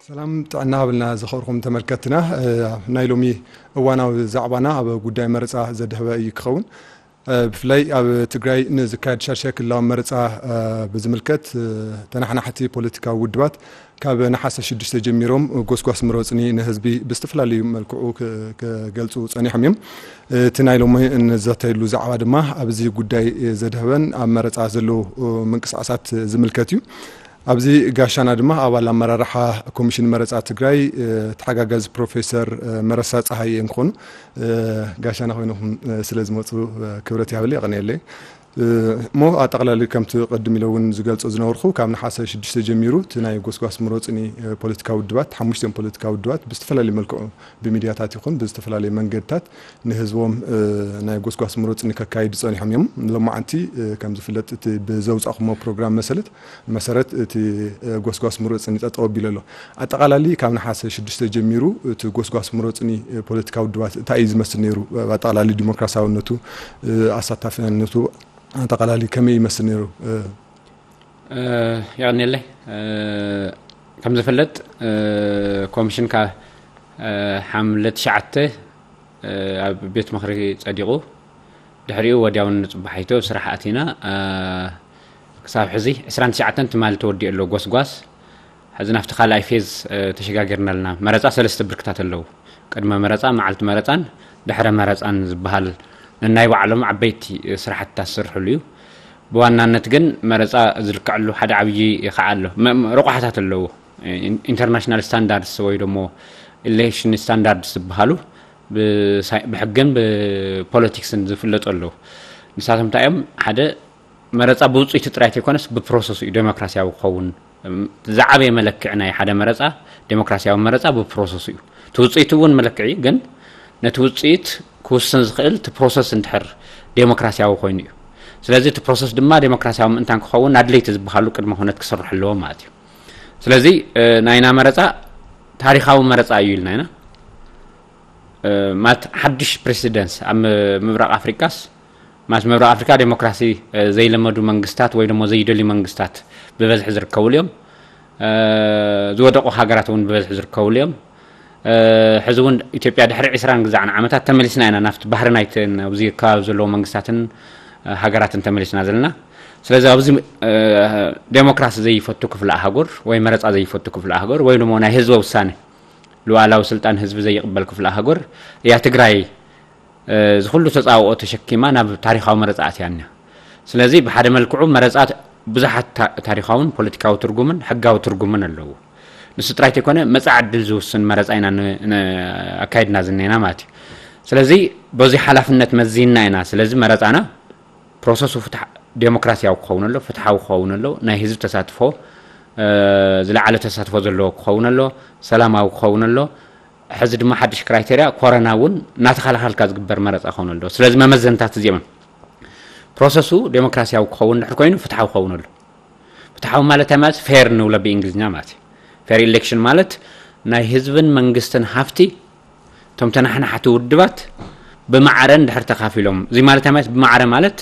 ሰላም ጥዕና ሃብልና ዝኸርኹም ተመልከትና። ናይ ሎሚ እዋናዊ ዛዕባና ኣብ ጉዳይ መረፃ ዘድህበ እዩ ክኸውን። ብፍላይ ኣብ ትግራይ ንዝካየድ ሻድሻይ ክልላዊ መረፃ ብዝምልከት ተናሓናሕቲ ፖለቲካዊ ውድባት ካብ ነሓሰ ሽዱሽተ ጀሚሮም ጎስጓስ ምረፅኒ ንህዝቢ ብዝተፈላለዩ መልክዑ ክገልፁ ፀኒሖም እዮም። እቲ ናይ ሎሚ እንዘተየሉ ዛዕባ ድማ ኣብዚ ጉዳይ ዘድህበን ኣብ መረፃ ዘለዉ ምንቅስቃሳት ዝምልከት እዩ። ኣብዚ ጋሻና ድማ ኣባል ኣመራርሓ ኮሚሽን መረፃ ትግራይ ተሓጋጋዚ ፕሮፌሰር መረሳ ፀሃየ እንትኾኑ፣ ጋሻና ኮይንኹም ስለ ዝመፁ ክብረት ይሃበለይ፣ የቐንየለይ። እሞ ኣጠቕላሊ ከምቲ ቅድም ኢለ እውን ዝገልፆ ዝነበርኩ ካብ ነሓሰ ሽዱሽተ ጀሚሩ እቲ ናይ ጎስጓስ ምረፅኒ ፖለቲካዊ ውድባት ሓሙሽተን ፖለቲካዊ ውድባት ብዝተፈላለዩ መልክዑ ብሚድያታት ይኹን ብዝተፈላለዩ መንገድታት ንህዝቦም ናይ ጎስጓስ ምረፅኒ ከካይዱ ፀኒሖም እዮም። ሎማዓንቲ ከም ዝፍለጥ እቲ ብዘውፃእኩሞ ፕሮግራም መሰለት መሰረት እቲ ጎስጓስ ምረፅኒ ጠጠው ኣቢሉ ኣሎ። ኣጠቓላሊ ካብ ነሓሰ ሽዱሽተ ጀሚሩ እቲ ጎስጓስ ምረፅኒ ፖለቲካዊ ውድባት እንታይ እዩ ዝመስል ነይሩ? ኣጠቓላሊ ዲሞክራሲያውነቱ፣ ኣሳታፊነቱ ኣጠቓላሊ ከመይ ይመስል ነይሩ? የቐንየለይ። ከም ዝፍለጥ ኮሚሽን ካብ ሓምለ ትሽዓተ ኣብ ቤት ምኽሪ ጸዲቑ፣ ድሕሪኡ ወዲያውን ንጽባሒቱ ኣብ ስራሕ ኣቲና። ክሳብ ሕዚ ዕስራን ትሽዓተን ትማሊ ተወዲኡ ኣሎ ጎስጓስ። ሕዚ ናብቲ ካልኣይ ፌዝ ተሸጋጊርና ኣለና። መረፃ ሰለስተ ብርክታት ኣለዉ። ቅድመ መረፃ፣ መዓልቲ መረፃን ድሕረ መረፃን ዝበሃል ነናይ ባዕሎም ዓበይቲ ስራሕትታት ዝስርሕሉ እዩ። ብዋናነት ግን መረፃ ዝልክዐሉ ሓደ ዓብዪ ከዓ ኣሎ። ረቋሕታት ኣለዉ። ኢንተርናሽናል ስታንዳርድስ ወይ ደሞ ኢሌክሽን ስታንዳርድስ ዝበሃሉ ብሕግን ብፖለቲክስን ዝፍለጡ ኣለዉ። ንሳቶም እንታይ እዮም? ሓደ መረፃ ብውፅኢቱ ጥራይ ተይኮነስ ብፕሮሰሱ እዩ ዴሞክራሲያዊ ክኸውን። ዝዓበየ መለክዒ ናይ ሓደ መረፃ፣ ዴሞክራሲያዊ መረፃ ብፕሮሰሱ እዩ። እቲ ውፅኢቱ እውን መለክዒ እዩ፣ ግን ነቲ ውፅኢት ክውስን ዝኽእል እቲ ፕሮሰስ እንድሕር ዴሞክራሲያዊ ኮይኑ እዩ። ስለዚ እቲ ፕሮሰስ ድማ ዴሞክራሲያዊ ምእንታን ክኸውን ኣድለይቲ ዝበሃሉ ቅድመ ኩነት ክስርሑ ኣለዎም ማለት እዩ። ስለዚ ናይና መረፃ ታሪኻዊ መረፃ እዩ ኢልና ኢና። ማለት ሓድሽ ፕሬሲደንስ ኣብ ምብራቕ ኣፍሪቃስ፣ ማለት ምብራቕ ኣፍሪካ ዴሞክራሲ ዘይለመዱ መንግስታት ወይ ደሞ ዘይደልዩ መንግስታት ብበዝሒ ዝርከብሉ እዮም። ዝወደቑ ሃገራት እውን ብበዝሒ ዝርከብሉ እዮም። ሕዚ እውን ኢትዮጵያ ድሕሪ ዕስራን ግዛዕን ዓመታት ተመሊስና ኢና ናብቲ ባህሪ ናይተን ኣብዚ ከባቢ ዘለዉ መንግስታትን ሃገራትን ተመሊስና ዘለና። ስለዚ ኣብዚ ዴሞክራሲ ዘይፈቱ ክፍለ ኣህጉር ወይ መረፃ ዘይፈቱ ክፍለ ኣህጉር ወይ ደሞ ናይ ህዝበ ውሳነ ሉዓላዊ ስልጣን ህዝቢ ዘይቕበል ክፍለ ኣህጉር እያ ትግራይ እዚ ኩሉ ተፃብኦ ተሸኪማ ናብ ታሪኻዊ መረፃ ኣትያ እኒኣ። ስለዚ ብሓደ መልክዑ መረፃ ብዙሓት ታሪኻውን ፖለቲካዊ ትርጉምን ሕጋዊ ትርጉምን ኣለዎ። ንሱ ጥራይ ተይኮነ መፃኢ ዕድል ዝውስን መረፃ ኢና ኣካይድና ዝኒና ማለት እዩ። ስለዚ በዚ ሓላፍነት መዚንና ኢና። ስለዚ መረፃና ፕሮሰሱ ፍትሕ ዴሞክራሲያዊ ክኸውን ኣሎ፣ ፍትሓዊ ክኸውን ኣሎ፣ ናይ ህዝቢ ተሳትፎ ዝለዓለ ተሳትፎ ዘለዎ ክኸውን ኣሎ፣ ሰላማዊ ክኸውን ኣሎ። ሕዚ ድማ ሓድሽ ክራይቴርያ ኮረና እውን እናተኸላኸልካ ዝግበር መረፃ ክኸውን ኣሎ። ስለዚ መመዘንታት እዚኦም ፕሮሰሱ ዴሞክራሲያዊ ክኸውን ድሕር ኮይኑ ፍትሓዊ ክኸውን ኣሎ። ፍትሓዊ ማለት እንታይ ማለት? ፌር ንብሎ ብእንግሊዝኛ ማለት እዩ። ፌር ኢሌክሽን ማለት ናይ ህዝብን መንግስትን ሃፍቲ እቶም ተናሓናሕቲ ውድባት ብማዕረ እንድሕር ተካፊሎም፣ እዚ ማለት እንታይ ማለት? ብማዕረ ማለት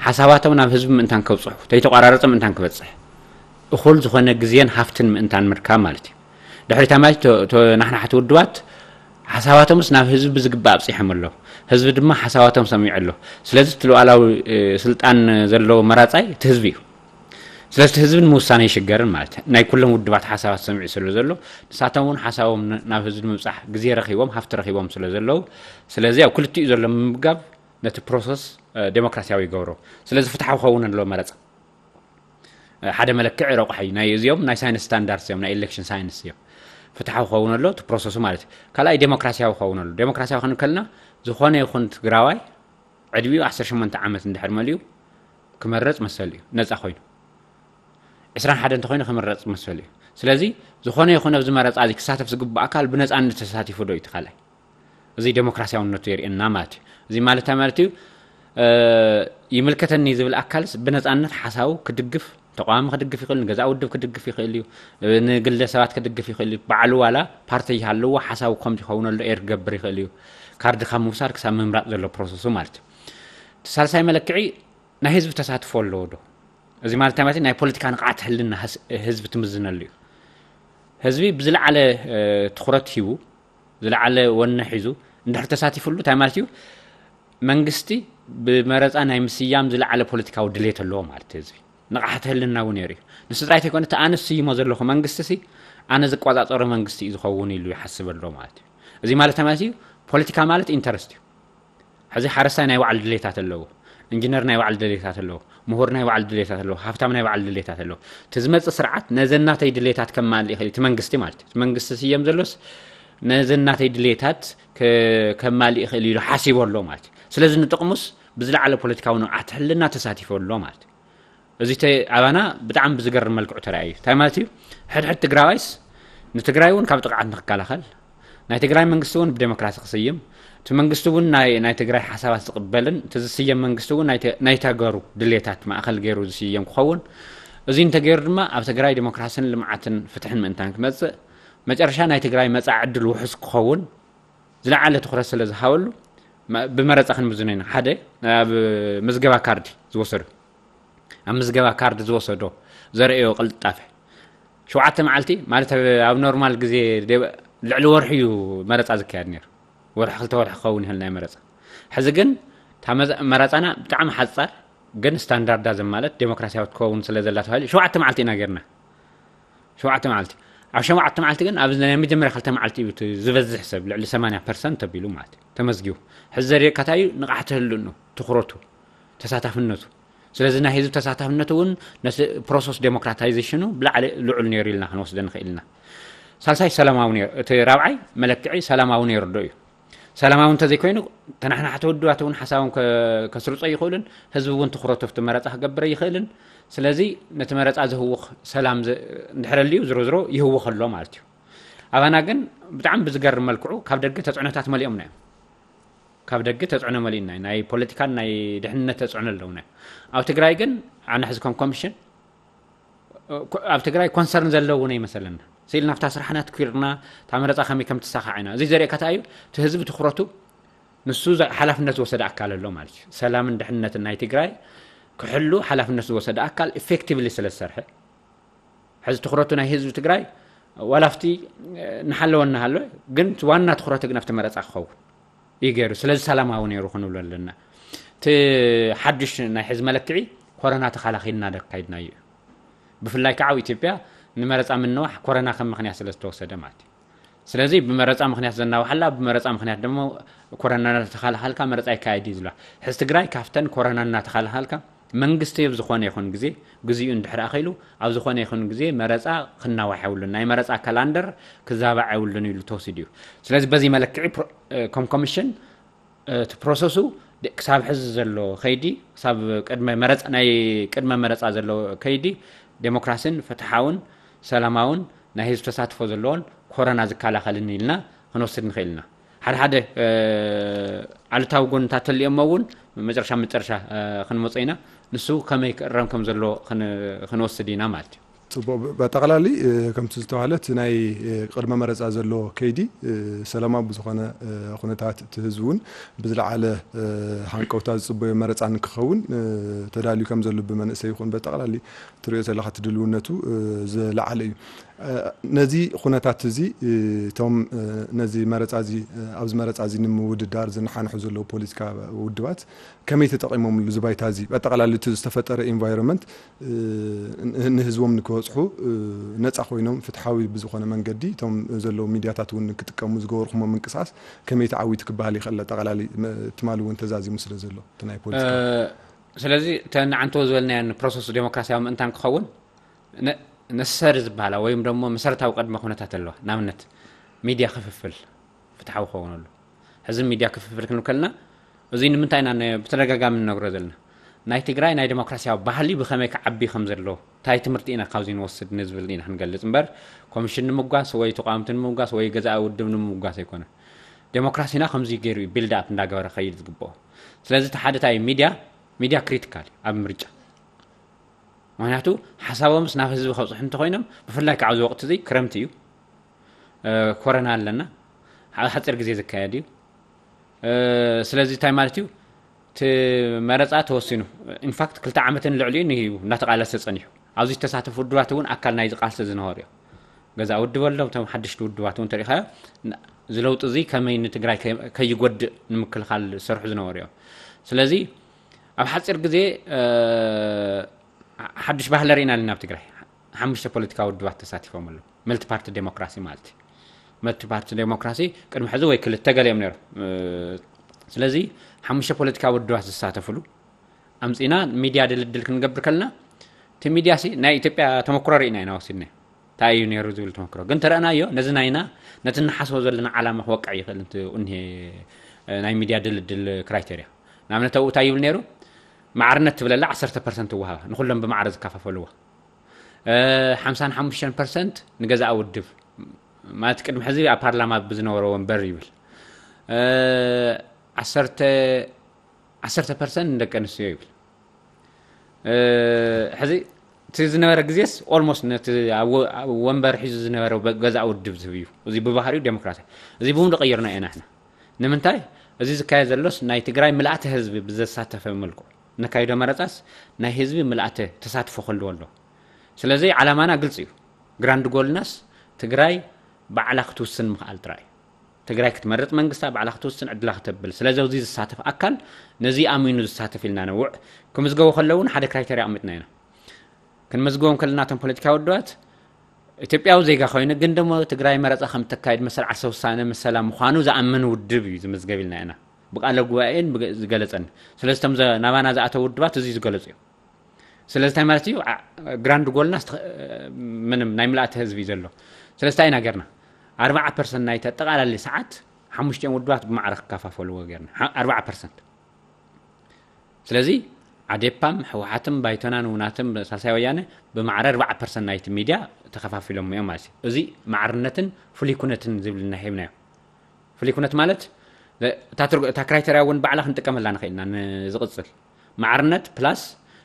ሓሳባቶም ናብ ህዝቢ ምእንታን ከብፅሑ፣ ተይተቋራረፀ ምእንታን ክበፅሕ፣ እኹል ዝኾነ ግዜን ሃፍትን ምእንታን ምርካብ ማለት እዩ። ድሕሪታ ማለት ተናሕናሕቲ ውድባት ሓሳባቶምስ ናብ ህዝቢ ብዝግባእ ኣብፂሖም ኣለዉ። ህዝቢ ድማ ሓሳባቶም ሰሚዑ ኣሎ። ስለዚ እቲ ሉዓላዊ ስልጣን ዘለዎ መራፃይ እቲ ህዝቢ እዩ። ስለዚ እቲ ህዝቢ ንምውሳነ ይሽገርን ማለት እዩ። ናይ ኩሎም ውድባት ሓሳባት ሰሚዑ ስለ ዘሎ ንሳቶም እውን ሓሳቦም ናብ ህዝቢ ንምብፃሕ ግዜ ረኪቦም ሃፍቲ ረኪቦም ስለ ዘለዉ ስለዚ ኣብ ክልቲኡ ዘሎ ምምጋብ ነቲ ፕሮሰስ ዴሞክራሲያዊ ይገብሮ። ስለዚ ፍትሓዊ ክኸውን ኣለዎ መረፃ። ሓደ መለክዒ ረቑሒ ናይ እዚኦም ናይ ሳይንስ ስታንዳርድስ እዮም ናይ ኤሌክሽን ሳይንስ እዮም። ፍትሓዊ ክኸውን ኣሎ እቲ ፕሮሰሱ ማለት እዩ። ካልኣይ ዴሞክራሲያዊ ክኸውን ኣሎ። ዴሞክራሲያዊ ክንከልና ዝኾነ ይኹን ትግራዋይ ዕድሚኡ ዓሰርተ ሸሞንተ ዓመት እንድሕር መሊኡ ክመረፅ መሰል እዩ ነፃ ኮይኑ። ዕስራን ሓደን እንተኮይኑ ክምረፅ መሰል እዩ። ስለዚ ዝኾነ ይኹን ኣብዚ መረፃ እዚ ክሳተፍ ዝግባእ ኣካል ብነፃነት ተሳቲፉ ዶ እዩ እቲ ካልኣይ? እዚ ዴሞክራሲያውነቱ የርእየና ማለት እዩ። እዚ ማለት እንታይ ማለት እዩ? ይምልከተኒ ዝብል ኣካልስ ብነፃነት ሓሳቡ ክድግፍ፣ ተቃዋሚ ክድግፍ ይኽእል፣ ንገዛእ ውድብ ክድግፍ ይኽእል እዩ፣ ንግለ ሰባት ክድግፍ ይኽእል እዩ። ባዕሉ ዋላ ፓርቲ ይሃለዎ ሓሳቡ ከምዚ ይኸውን ኣሎ ኤር ክገብር ይኽእል እዩ። ካርዲ ካብ ምውሳድ ክሳብ ምምራፅ ዘሎ ፕሮሰሱ ማለት እዩ። እቲ ሳልሳይ መለክዒ ናይ ህዝቢ ተሳትፎ ኣለዎ ዶ? እዚ ማለት እንታይ ማለት እዩ? ናይ ፖለቲካ ንቕዓት ሕልና ህዝቢ ትምዝነሉ እዩ። ህዝቢ ብዝለዓለ ትኩረት ሂቡ፣ ዝለዓለ ወነ ሒዙ እንድሕር ተሳቲፍሉ እንታይ ማለት እዩ? መንግስቲ ብመረፃ ናይ ምስያም ዝለዓለ ፖለቲካዊ ድሌት ኣለዎ ማለት እዩ። ህዝቢ ንቕሓት ህልና እውን ነይሩ እዩ። ንሱ ጥራይ ተይኮነ እቲ ኣነ ዝስይሞ ዘለኹ መንግስቲ ሲ ኣነ ዝቆፃፀሮ መንግስቲ እዩ ዝኸውን ኢሉ ይሓስብ ኣሎ ማለት እዩ። እዚ ማለት እንታይ ማለት እዩ? ፖለቲካ ማለት ኢንተረስት እዩ። ሕዚ ሓረስታይ ናይ ባዕሉ ድሌታት ኣለዎ፣ ኢንጂነር ናይ ባዕሉ ድሌታት ኣለዎ፣ ምሁር ናይ ባዕሉ ድሌታት ኣለዎ፣ ሃብታም ናይ ባዕሉ ድሌታት ኣለዎ። እቲ ዝመፅእ ስርዓት ነዘን ናተይ ድሌታት ከማልእ ይኽእል እዩ እቲ መንግስቲ ማለት እዩ። እቲ መንግስቲ ዝስየም ዘሎስ ነዘን ናተይ ድሌታት ከማልእ ይኽእል ኢሉ ሓሲቡ ኣሎ ማለት እዩ። ስለዚ ንጥቕሙስ ብዝለዓለ ፖለቲካዊ ንቕሓት ሕልና ተሳቲፉ ኣሎ ማለት እዩ። እዚ ኣባና ብጣዕሚ ብዝገርም መልክዑ ተራእዩ። እንታይ ማለት እዩ? ሕድሕድ ትግራዋይስ ንትግራይ እውን ካብ ጥቕዓት ንክከላኸል፣ ናይ ትግራይ መንግስቲ እውን ብዴሞክራሲ ክስይም፣ እቲ መንግስቲ እውን ናይ ትግራይ ሓሳባት ዝቕበልን እቲ ዝስየም መንግስቲ እውን ናይ ተገሩ ድሌታት ማእኸል ገይሩ ዝስየም ክኸውን፣ እዚ እንተገይሩ ድማ ኣብ ትግራይ ዴሞክራሲን ልምዓትን ፍትሕን ምእንታን ክመፅእ፣ መጨረሻ ናይ ትግራይ መፃኢ ዕድል ውሑስ ክኸውን ዝለዓለ ትኹረት ስለ ዝሃበሉ ብመረፃ ክንምዝኖ ኢና። ሓደ ኣብ ምዝገባ ካርዲ ዝወሰዶ ኣብ ምዝገባ ካርድ ዝወሰዶ ዘርእዮ ቅልጣፈ ሸውዓተ መዓልቲ ማለት ኣብ ኖርማል ግዜ ልዕሊ ወርሒ እዩ መረፃ ዝካየድ ነይሩ። ወርሒ ክልተ ወርሒ ክኸውን ይኽእል ናይ መረፃ። ሕዚ ግን መረፃና ብጣዕሚ ሓፃር ግን ስታንዳርዳ ዘማለት ዴሞክራሲያዊ ትከውን ስለ ዘላ ተባሂሉ ሸውዓተ መዓልቲ ኢና ጌርና። ሸውዓተ መዓልቲ ኣብ ሸውዓተ መዓልቲ ግን ኣብ ናይ መጀመርያ ክልተ መዓልቲ እዩ ዝበዝሕ ሰብ ልዕሊ ሰማንያ ፐርሰንት ተቢሉ ማለት እዩ ተመዝጊቡ። ሕዚ ዘርእየካ እንታይ እዩ? ንቕሓት ህልኑ፣ ትኹረቱ፣ ተሳታፍነቱ። ስለዚ ናይ ህዝቢ ተሳታፍነቱ እውን ነቲ ፕሮሰስ ዴሞክራታይዜሽኑ ብላዕሊ ልዑል ነይሩ ኢልና ክንወስደ ንኽእል ኢና። ሳልሳይ ሰላማዊ ነይሩ። እቲ ራብዓይ መለክዒ ሰላማዊ ነይሩ ዶ እዩ? ሰላማዊ እንተዘይኮይኑ ተናሕናሕቲ ውድባት እውን ሓሳቦም ከስርጾ ይኽእልን ህዝቢ እውን ትኹረቱ ኣብቲ መረፃ ክገብረ ይኽእልን። ስለዚ ነቲ መረፃ ዝህውኽ ሰላም እንድሕር ኣልዩ ዝሮ ዝሮ ይህውኽ ኣሎ ማለት እዩ። ኣባና ግን ብጣዕሚ ብዝገርም መልክዑ ካብ ደገ ተፅዕኖታት መሊኦምና እዮም። ካብ ደገ ተፅዕኖ መሊእና እዩ። ናይ ፖለቲካን ናይ ድሕንነት ተፅዕኖ ኣለውና። ኣብ ትግራይ ግን ኣነ ሕዚ ከም ኮሚሽን ኣብ ትግራይ ኮንሰርን ዘለዎ እውን ኣይመሰለና። ስኢል ናብታ ስራሕና ትኲርና እታ መረፃ ከመይ ከም ትሳኻዕ ኢና። እዚ ዘርእየካ እንታይ እዩ? እቲ ህዝቢ ትኩረቱ ንሱ ሓላፍነት ዝወሰደ ኣካል ኣሎ ማለት እዩ። ሰላምን ድሕንነትን ናይ ትግራይ ክሕሉ ሓላፍነት ዝወሰደ ኣካል ኢፌክቲቭሊ ስለ ዝሰርሐ ሕዚ ትኩረቱ ናይ ህዝቢ ትግራይ ዋላ ኣብቲ ንሓለወ እናሃለወ ግን ዋና ትኩረቱ ግን ኣብቲ መረፃ ክኸውን እዩ ገይሩ። ስለዚ ሰላማዊ ነይሩ ክንብሎ ኣለና። እቲ ሓዱሽ ናይ ሕዚ መለክዒ ኮረና ተኻላኺልና ዶ ኣካይድናዮ እዩ። ብፍላይ ከዓ ኣብ ኢትዮጵያ ንመረፃ ምንዋሕ ኮረና ከም ምኽንያት ስለ ዝተወሰደ ማለት እዩ። ስለዚ ብመረፃ ምኽንያት ዘናውሓላ ብመረፃ ምኽንያት ደሞ ኮረና እናተኻላኸልካ መረፃ ይካየድ እዩ ዝብላ። ሕዚ ትግራይ ካብተን ኮረና እናተኻላኸልካ መንግስቲ ኣብ ዝኾነ ይኹን ግዜ ግዚኡ እንድሕር ኣኺሉ ኣብ ዝኾነ ይኹን ግዜ መረፃ ክናዋሕ የብሉን። ናይ መረፃ ካላንደር ክዛባዕ የብሉን ኢሉ ተወሲዱ እዩ። ስለዚ በዚ መለክዒ ከም ኮሚሽን እቲ ፕሮሰሱ ክሳብ ሕዚ ዘሎ ከይዲ ክሳብ ቅድመ መረፃ ናይ ቅድመ መረፃ ዘሎ ከይዲ ዴሞክራሲን ፍትሓውን ሰላማውን ናይ ህዝቢ ተሳትፎ ዘለዎን ኮረና ዝከላኸልን ኢልና ክንወስድ ንኽእል ኢና። ሓደ ሓደ ኣሉታዊ ጎንታት ተልዮሞ እውን መጨረሻ መጨረሻ ክንመፆ ኢና። ንሱ ከመይ ክእረም ከም ዘለዎ ክንወስድ ኢና ማለት እዩ። ፅቡቅ። በጠቅላሊ ከምቲ ዝተባህለ እቲ ናይ ቅድመ መረፃ ዘሎ ከይዲ ሰላማዊ ብዝኾነ ኩነታት እቲ ህዝቢ እውን ብዝለዓለ ሃንቀውታ ዝፅበዮ መረፃ ንክኸውን ተዳልዩ ከም ዘሎ ብመንእሰይ ይኹን በጠቅላሊ ትሪኦ ዘለካ እቲ ድልውነቱ ዝለዓለ እዩ። ነዚ ኩነታት እዚ እቶም ነዚ መረፃ እዚ ኣብዚ መረፃ እዚ ንምውድዳር ዝነሓንሑ ዘለዉ ፖለቲካ ውድባት ከመይ ተጠቒሞምሉ እዚ ባይታ እዚ ኣጠቓላሊ እቲ ዝተፈጠረ ኢንቫይሮንመንት ንህዝቦም ንክበፅሑ ነፃ ኮይኖም ፍትሓዊ ብዝኾነ መንገዲ እቶም ዘለዉ ሚድያታት እውን ንክጥቀሙ ዝገበርኩሞ ምንቅስቃስ ከመይ ተዓዊቱ ክበሃል ይኽእል ኣጠቓላሊ ትማሊ እውን ተዛዚሙ ስለ ዘሎ እቲ ናይ ፖለቲካ ስለዚ እተን ዓንተዎ ዝበልናየን ፕሮሰስ ዴሞክራሲያዊ ምእንታን ክኸውን ነሰሪ ዝበሃላ ወይም ደሞ መሰረታዊ ቅድመ ኩነታት ኣለዋ። ንኣብነት ሚድያ ክፍፍል ፍትሓዊ ክኸውን ኣሎ። ሕዚ ሚድያ ክፍፍል ክንብል ከለና እዚ ንምንታይ ኢና ብተደጋጋሚ ንነግሮ ዘለና? ናይ ትግራይ ናይ ዴሞክራሲያዊ ባህሊ ብኸመይ ክዓቢ ከም ዘለዎ እንታይ ትምህርቲ ኢና ካብዚ ንወስድ ንዝብል ኢና ክንገልፅ እምበር ኮሚሽን ንምጓስ ወይ ተቃወምቲ ንምጓስ ወይ ገዛኢ ውድብ ንምጓስ ኣይኮነን። ዴሞክራሲና ከምዚ ገይሩ እዩ ቢልድ ኣፕ እንዳገበረ ከይድ ዝግብኦ። ስለዚ እቲ ሓደ እንታይ እዩ? ሚድያ ሚድያ ክሪቲካል እዩ ኣብ ምርጫ። ምክንያቱ ሓሳቦምስ ናብ ህዝቢ ከብፅሑ እንተኮይኖም ብፍላይ ከዓ ኣብዚ ወቅቲ እዚ ክረምቲ እዩ፣ ኮረና ኣለና፣ ሓፂር ግዜ ዝካየድ እዩ። ስለዚ እንታይ ማለት እዩ? እቲ መረፃ ተወሲኑ ኢንፋክት ክልተ ዓመትን ልዕሊኡ እዩ እናተቃለሰ ፀኒሑ። ኣብዚ ዝተሳተፉ ውድባት እውን ኣካል ናይዚ ቃልሲ ዝነበሩ እዮም። ገዛ ውድብ ኣሎ። እቶም ሓደሽቲ ውድባት እውን ተሪኢኻዮ፣ እዚ ለውጢ እዚ ከመይ ንትግራይ ከይጎድእ ንምክልኻል ዝሰርሑ ዝነበሩ እዮም። ስለዚ ኣብ ሓፂር ግዜ ሓዱሽ ባህሊ ርኢና ኣለና ኣብ ትግራይ። ሓሙሽተ ፖለቲካዊ ውድባት ተሳቲፎም ኣለዉ። መልቲ ፓርቲ ዴሞክራሲ ማለት እዩ። መልቲ ፓርቲ ዴሞክራሲ ቅድሚ ሕዚ ወይ ክልተ ገለ እዮም ነይሮም። ስለዚ ሓሙሽተ ፖለቲካዊ ውድባት ዝሳተፍሉ ኣምፂና ሚድያ ድልድል ክንገብር ከለና፣ እቲ ሚድያ ሲ ናይ ኢትዮጵያ ተመክሮ ርኢና ኢና ወሲድና። እንታይ እዩ ነይሩ ዝብል ተመክሮ ግን ተረእናዮ። ነዚ ናይና ነቲ ንሓስቦ ዘለና ዓላማ ክወቅዕ ይኽእል እንት- እኒሄ ናይ ሚድያ ድልድል ክራይቴርያ። ንኣብነት ኣብኡ እንታይ ይብል ነይሩ? ማዕርነት ትብለላ ዓሰርተ ፐርሰንት ትወሃባ፣ ንኩሎም ብማዕረ ዝከፋፈልዎ። ሓምሳን ሓሙሽተን ፐርሰንት ንገዛእ ውድብ ማለት ቅድሚ ሕዚ ኣብ ፓርላማ ብዝነበረ ወንበር ይብል። ዓሰርተ ዓሰርተ ፐርሰንት ንደቂ ኣንስትዮ ይብል። ሕዚ እቲ ዝነበረ ግዜስ ኦልሞስት ነቲ ኣብ ወንበር ሒዙ ዝነበረ ገዛእ ውድብ ዝህብ እዩ። እዚ ብባህሪኡ ዴሞክራሲ። እዚ ብውን ቀይርና ኢና ንሕና። ንምንታይ? እዚ ዝካየድ ዘሎስ ናይ ትግራይ ምልኣተ ህዝቢ ብዘሳተፈ መልክዑ ነካይዶ መረፃስ ናይ ህዝቢ ምልኣተ ተሳትፎ ክህልዎ ኣለዎ። ስለዚ ዓላማና ግልፂ እዩ። ግራንድ ጎልናስ ትግራይ ባዕላ ክትውስን ምኽኣል ጥራይ እዩ። ትግራይ ክትመርፅ መንግስታ ባዕላ ክትውስን ዕድላ ክተብል። ስለዚ ኣብዚ ዝሳተፍ ኣካል ነዚ ኣሚኑ ዝሳተፍ ኢልና ነውዕ። ክምዝገቡ ከለዉ እውን ሓደ ክራይተርያ ኣቕሚጥና ኢና። ክንመዝግቦም ከለና እቶም ፖለቲካዊ ውድባት ኢትዮጵያዊ ዜጋ ኮይኑ ግን ደሞ ትግራይ መረፃ ከም እተካይድ መሰል ዓርሰ ውሳነ መሰላ ምዃኑ ዝኣምን ውድብ እዩ ዝምዝገብ ኢልና ኢና ብቃለ ጉባኤን ዝገለፀኒ። ስለዚ እቶም ናባና ዝኣተው ውድባት እዚ ዝገለፁ እዮም። ስለዚ እንታይ ማለት እዩ? ግራንድ ጎልና ምንም ናይ ምልኣተ ህዝቢ እዩ ዘሎ። ስለዚ እንታይ ኢና ገርና? ኣርባዓ ፐርሰንት ናይቲ ኣጠቓላሊ ሰዓት ሓሙሽቲኦም ውድባት ብማዕረ ክከፋፈልዎ ገርና። ኣርባዓ ፐርሰንት። ስለዚ ዓዴፓም ሕወሓትም ባይቶናን ውናትም ሳልሳይ ወያነ ብማዕረ ኣርባዓ ፐርሰንት ናይቲ ሚድያ ተኸፋፊሎም እዮም ማለት እዩ። እዚ ማዕርነትን ፍሉይ ኩነትን ዝብል እናሂብናዮ። ፍሉይ ኩነት ማለት እታ ክራይተርያ እውን ባዕላ ክንጥቀመላ ንኽእል ኢና ንዝቕፅል ማዕርነት ፕላስ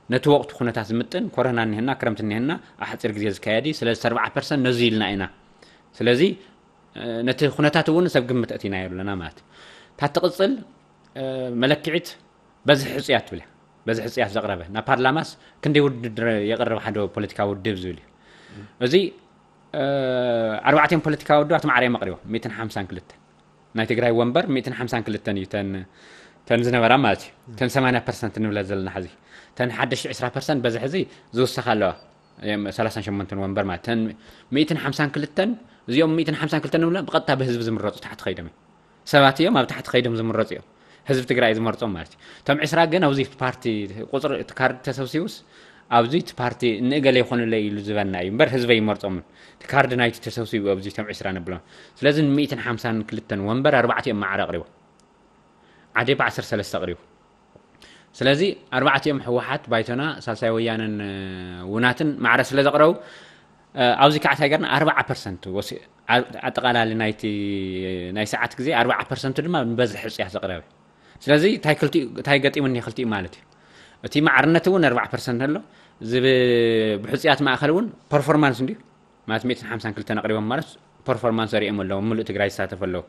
ነቲ ወቕቱ ኩነታት ዝምጥን ኮረና እኒሀና ክረምቲ እኒሀና ኣብ ሓፂር ግዜ ዝካየድ እዩ። ስለዚ ኣርባዓ ፐርሰንት ነዚ ኢልና ኢና። ስለዚ ነቲ ኩነታት እውን ሰብ ግምት ኣእቲናዮ ኣለና ማለት እዩ። እታ ትቕፅል መለክዒት በዝሒ ሕፁያት ትብል እያ። በዝሒ ሕፁያት ዘቕረበ ናብ ፓርላማስ ክንደይ ውድድር የቕርብ ሓደ ፖለቲካዊ ውድብ ዝብል እዩ። እዚ ኣርባዕቲኦም ፖለቲካዊ ውድባት ማዕረ እዮም ኣቕሪቦም ሚእትን ሓምሳን ክልተን ናይ ትግራይ ወንበር ሚእትን ሓምሳን ክልተን እዩ ተን ተን ዝነበራ ማለት እዩ። ተን ሰማንያ ፐርሰንት ንብለ ዘለና ሕዚ ተን ሓደሽቲ ዕስራ ፐርሰንት በዝሒ እዚ ዝውሰኻ ኣለዋ። ሰላሳን ሸሞንተን ወንበር ማለት ተን ሚእትን ሓምሳን ክልተን እዚኦም ሚእትን ሓምሳን ክልተን ንብለ ብቐጥታ ብህዝቢ ዝምረፁ ታሕቲ ከይዶም እዮም። ሰባት እዮም ኣብ ታሕቲ ከይዶም ዝምረፁ እዮም። ህዝቢ ትግራይ ዝመርፆም ማለት እዩ። እቶም ዕስራ ግን ኣብዚ ፓርቲ ቁፅሪ እቲ ካርድ ተሰብሲቡስ ኣብዚ እቲ ፓርቲ ንእገለ ይኾኑለይ ኢሉ ዝበና እዩ እምበር ህዝቢ ይመርፆምን። እቲ ካርድ ናይቲ ተሰብሲቡ ኣብዚ እቶም ዕስራ ንብሎም። ስለዚ ን ሚእትን ሓምሳን ክልተን ወንበር ኣርባዕቲኦም ማዕረ ኣቕሪቦም። ዓዴፓ ዓሰርተ ሰለስተ ኣቕሪቡ። ስለዚ ኣርባዕቲኦም ህወሓት፣ ባይቶና፣ ሳልሳይ ወያነን ውናትን ማዕረ ስለ ዘቕረቡ ኣብዚ ከዓ እንታይ ገርና ኣርባዓ ፐርሰንት ኣጠቓላሊ ናይቲ ናይ ሰዓት ግዜ ኣርባዓ ፐርሰንት ድማ ንበዝሒ ሕፅያት ዘቕረበ። ስለዚ እንታይ ገጢሙኒ ክልቲኡ ማለት እዩ። እቲ ማዕርነት እውን ኣርባዓ ፐርሰንት ኣሎ። እዚ ብሕፅያት ማእኸል እውን ፐርፎርማንስ እንዲዩ ማለት ሚእትን ሓምሳን ክልተን ኣቕሪቦም ማለት ፐርፎርማንስ ኣሪኦም ኣለዉ። ምሉእ ትግራይ ዝሳተፍ ኣለዉ።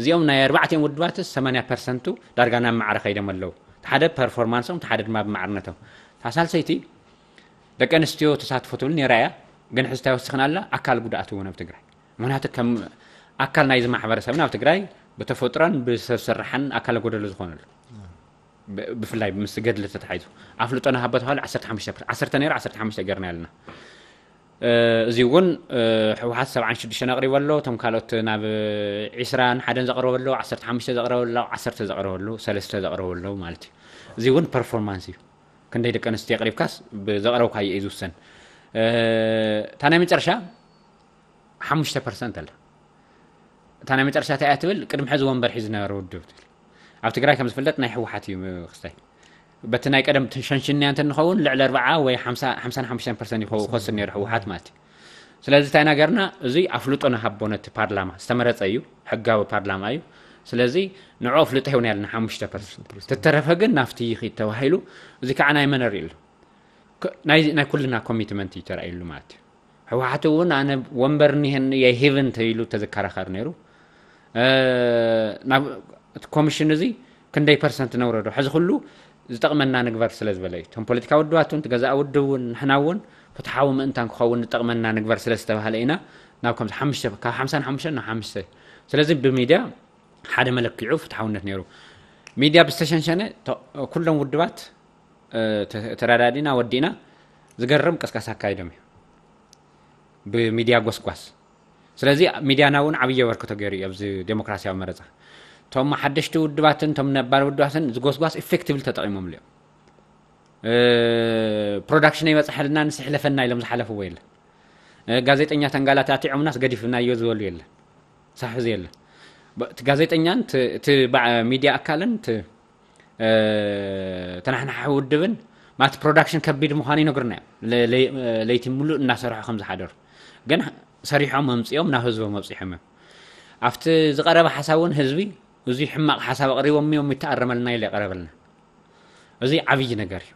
እዚኦም ናይ ኣርባዕቲኦም ውድባት ሰማንያ ፐርሰንቱ ዳርጋ ናብ ማዕረ ከይዶም ኣለዉ። ሓደ ፐርፎርማንሶም፣ ሓደ ድማ ብማዕርነቶም። እታ ሳልሰይቲ ደቂ ኣንስትዮ ተሳትፎ ትብል ነይራ እያ፣ ግን ሕዚ እንታይ ወሲኽና ኣላ? ኣካል ጉድኣት እውን ኣብ ትግራይ። ምክንያቱ ከም ኣካል ናይዚ ማሕበረሰብና ኣብ ትግራይ ብተፈጥሮን ብሰብ ስራሕን ኣካለ ጎደሎ ዝኾኑ ኣለዉ። ብፍላይ ምስ ገድሊ ተታሒዙ ኣፍልጦ ንሃቦ ተባሂሉ ዓሰርተ ሓሙሽተ ፐርሰንት፣ ዓሰርተ ነይሩ ዓሰርተ ሓሙሽተ ገርና ኣለና። እዚ እውን ህወሓት ሰብዓን ሽዱሽተን ኣቕሪቡ ኣሎ። እቶም ካልኦት ናብ ዒስራን ሓደን ዘቕረበ ኣሎ፣ ዓሰርተ ሓሙሽተ ዘቕረበ ኣሎ፣ ዓሰርተ ዘቕረበ ኣሎ፣ ሰለስተ ዘቕረበ ኣሎ ማለት እዩ። እዚ እውን ፐርፎርማንስ እዩ። ክንደይ ደቂ ኣንስትዮ ኣቕሪብካስ ብዘቕረብካዮ እዩ ዝውሰን። እታ ናይ መጨረሻ ሓሙሽተ ፐርሰንት ኣላ። እታ ናይ መጨረሻ እንታይ እያ ትብል? ቅድሚ ሕዚ ወንበር ሒዙ ዝነበረ ውድብ ትብል። ኣብ ትግራይ ከም ዝፍለጥ ናይ ህወሓት እዩ ክስታይ። በቲ ናይ ቀደም ሸንሽንያ እንተ ንኸውን ልዕሊ ኣርባዓ ወይ ሓምሳ ሓምሳን ሓሙሽተን ፐርሰንት ይኸው- ይኸስር ነይሩ ህወሓት ማለት እዩ። ስለዚ እንታይ ናገርና እዙይ ኣፍልጦ ንሃቦ ነቲ ፓርላማ ዝተመረፀ እዩ፣ ሕጋዊ ፓርላማ እዩ። ስለዚ ንዑ ኣፍልጦ ሂብና ያለና ሓሙሽተ ፐርሰንት። ተተረፈ ግን ናፍቲ ይኺድ ተባሂሉ። እዚ ከዓ ናይ መን ርኢ ኣሎ? ናይ ኩልና ኮሚትመንት እዩ ተራእዩሉ ማለት እዩ። ህወሓት እውን ኣነ ወንበር እኒሀኒ የሂብን ተይሉ ተዝከራኸር ነይሩ። ናብ እቲ ኮሚሽን እዚ ክንደይ ፐርሰንት ነውረዶ ሕዚ ኩሉ ዝጠቕመና ንግበር ስለ ዝበለ እዩ። እቶም ፖለቲካ ውድባት እውን ትገዛእ ውድብ እውን ንሕና እውን ፍትሓዊ ምእንታን ክኸውን ዝጠቕመና ንግበር ስለ ዝተባህለ ኢና ናብ ከምዚ ሓሙሽተ፣ ካብ ሓምሳ ንሓሙሽተ ናብ ሓሙሽተ። ስለዚ ብሚድያ ሓደ መለክዒኡ ፍትሓውነት ነይሩ። ሚድያ ብዝተሸንሸነ ተ- ኩሎም ውድባት እ፣ ተ- ተረዳዲና ወዲእና ዝገርም ቅስቀሳ ኣካይዶም እዩ ብሚድያ ጎስጓስ። ስለዚ ሚድያና እውን ዓብዪ ኣበርክቶ ገይሩ እዩ ኣብዚ ዴሞክራሲያዊ መረፃ። እቶም ሓደሽቲ ውድባትን እቶም ነባር ውድባትን ዝጎስጓስ ኢፌክቲቭሊ ተጠቂሞምሉ እዮም። ፕሮዳክሽን ይበፅሐልና ንስሕለፈና ኢሎም ዝሓለፍዎ የለን። ጋዜጠኛ ተንጋላታቲዖምናስ ገዲፍናዮ ዝበሉ የለን። ሳሕዚ የለን። እቲ ጋዜጠኛን እቲ ሚድያ ኣካልን ተናሕናሒ ውድብን ማት ፕሮዳክሽን ከቢድ ምዃኑ ይነግርና እዮም። ለይቲ ሙሉእ እናሰርሑ ከም ዝሓደሩ ግን ሰሪሖም ኣምፅኦም ናብ ህዝቦም ኣብፂሖም እዮም። ኣብቲ ዝቀረበ ሓሳብ እውን ህዝቢ እዙ ሕማቅ ሓሳብ ኣቅሪቦም እዮም ይተኣረመልና ኢለ የቀረበልና። እዚ ዓብይ ነገር እዩ።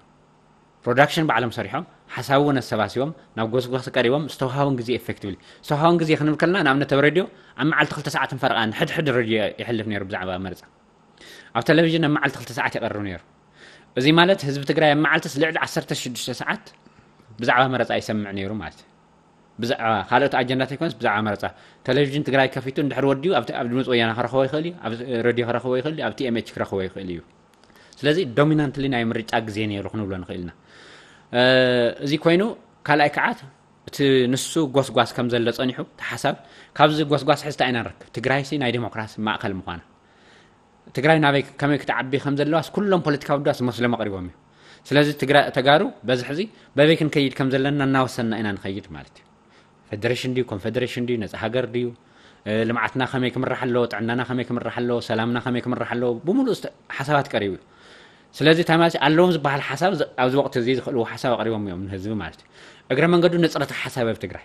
ፕሮዳክሽን ባዕሎም ሰሪሖም ሓሳብ እውን ኣሰባሲቦም ናብ ጎስጓስ ቀሪቦም ዝተውሃቦም ግዜ ኤፌክቲቭሊ ዝተውሃቦም ግዜ ክንብል ከለና ንኣብነት ኣብ ሬድዮ ኣብ መዓልቲ ክልተ ሰዓትን ፈረቓን ሕድሕድ ሬድዮ ይሕልፍ ነይሩ ብዛዕባ መረፃ ኣብ ቴሌቪዥን ኣብ መዓልቲ ክልተ ሰዓት ይቐርብ ነይሩ። እዚ ማለት ህዝቢ ትግራይ ኣብ መዓልትስ ልዕሊ ዓሰርተ ሽዱሽተ ሰዓት ብዛዕባ መረፃ ይሰምዕ ነይሩ ማለት እዩ። ብዛዕባ ካልኦት ኣጀንዳት ኣይኮነስ ብዛዕባ መረፃ ቴሌቪዥን ትግራይ ከፊቱ እንድሕር ወዲኡ ኣብ ድምፂ ወያና ክረኽቦ ይኽእል እዩ፣ ኣብ ሬድዮ ክረኽቦ ይኽእል እዩ፣ ኣብ ቲኤምኤች ክረኽቦ ይኽእል እዩ። ስለዚ ዶሚናንትሊ ናይ ምርጫ ግዜ ነይሩ ክንብሎ ንኽእል ኢና። እዚ ኮይኑ ካልኣይ ከዓ እቲ ንሱ ጎስጓስ ከም ዘሎ ፀኒሑ እቲ ሓሳብ ካብዚ ጎስጓስ ሕዝታ ኢና ንረክብ ትግራይሲ ናይ ዴሞክራሲ ማእኸል ምዃና ትግራይ ናበይ ከመይ ክትዓቢ ከም ዘለዋስ ኩሎም ፖለቲካዊ ውዳስ መስሎም ኣቕሪቦም እዩ። ስለዚ ተጋሩ በዚ ሕዚ በበይ ክንከይድ ከም ዘለና እናወሰንና ኢና ንኸይድ ማለት እዩ። ፌደሬሽን ድዩ ኮንፌደሬሽን ድዩ ነፃ ሃገር ድዩ ልምዓትና ከመይ ክምራሕ ኣለዎ ጥዕናና ከመይ ክምራሕ ኣለዎ ሰላምና ከመይ ክምራሕ ኣለዎ ብምሉእ ሓሳባት ቀሪቡ እዩ። ስለዚ እንታይ ማለት ኣለዎም ዝበሃል ሓሳብ ኣብዚ ወቅቲ እዚ ዝኽእልዎ ሓሳብ ኣቅሪቦም እዮም ንህዝቢ ማለት እዩ። እግረ መንገዱ ንፅረት ሓሳብ ኣብ ትግራይ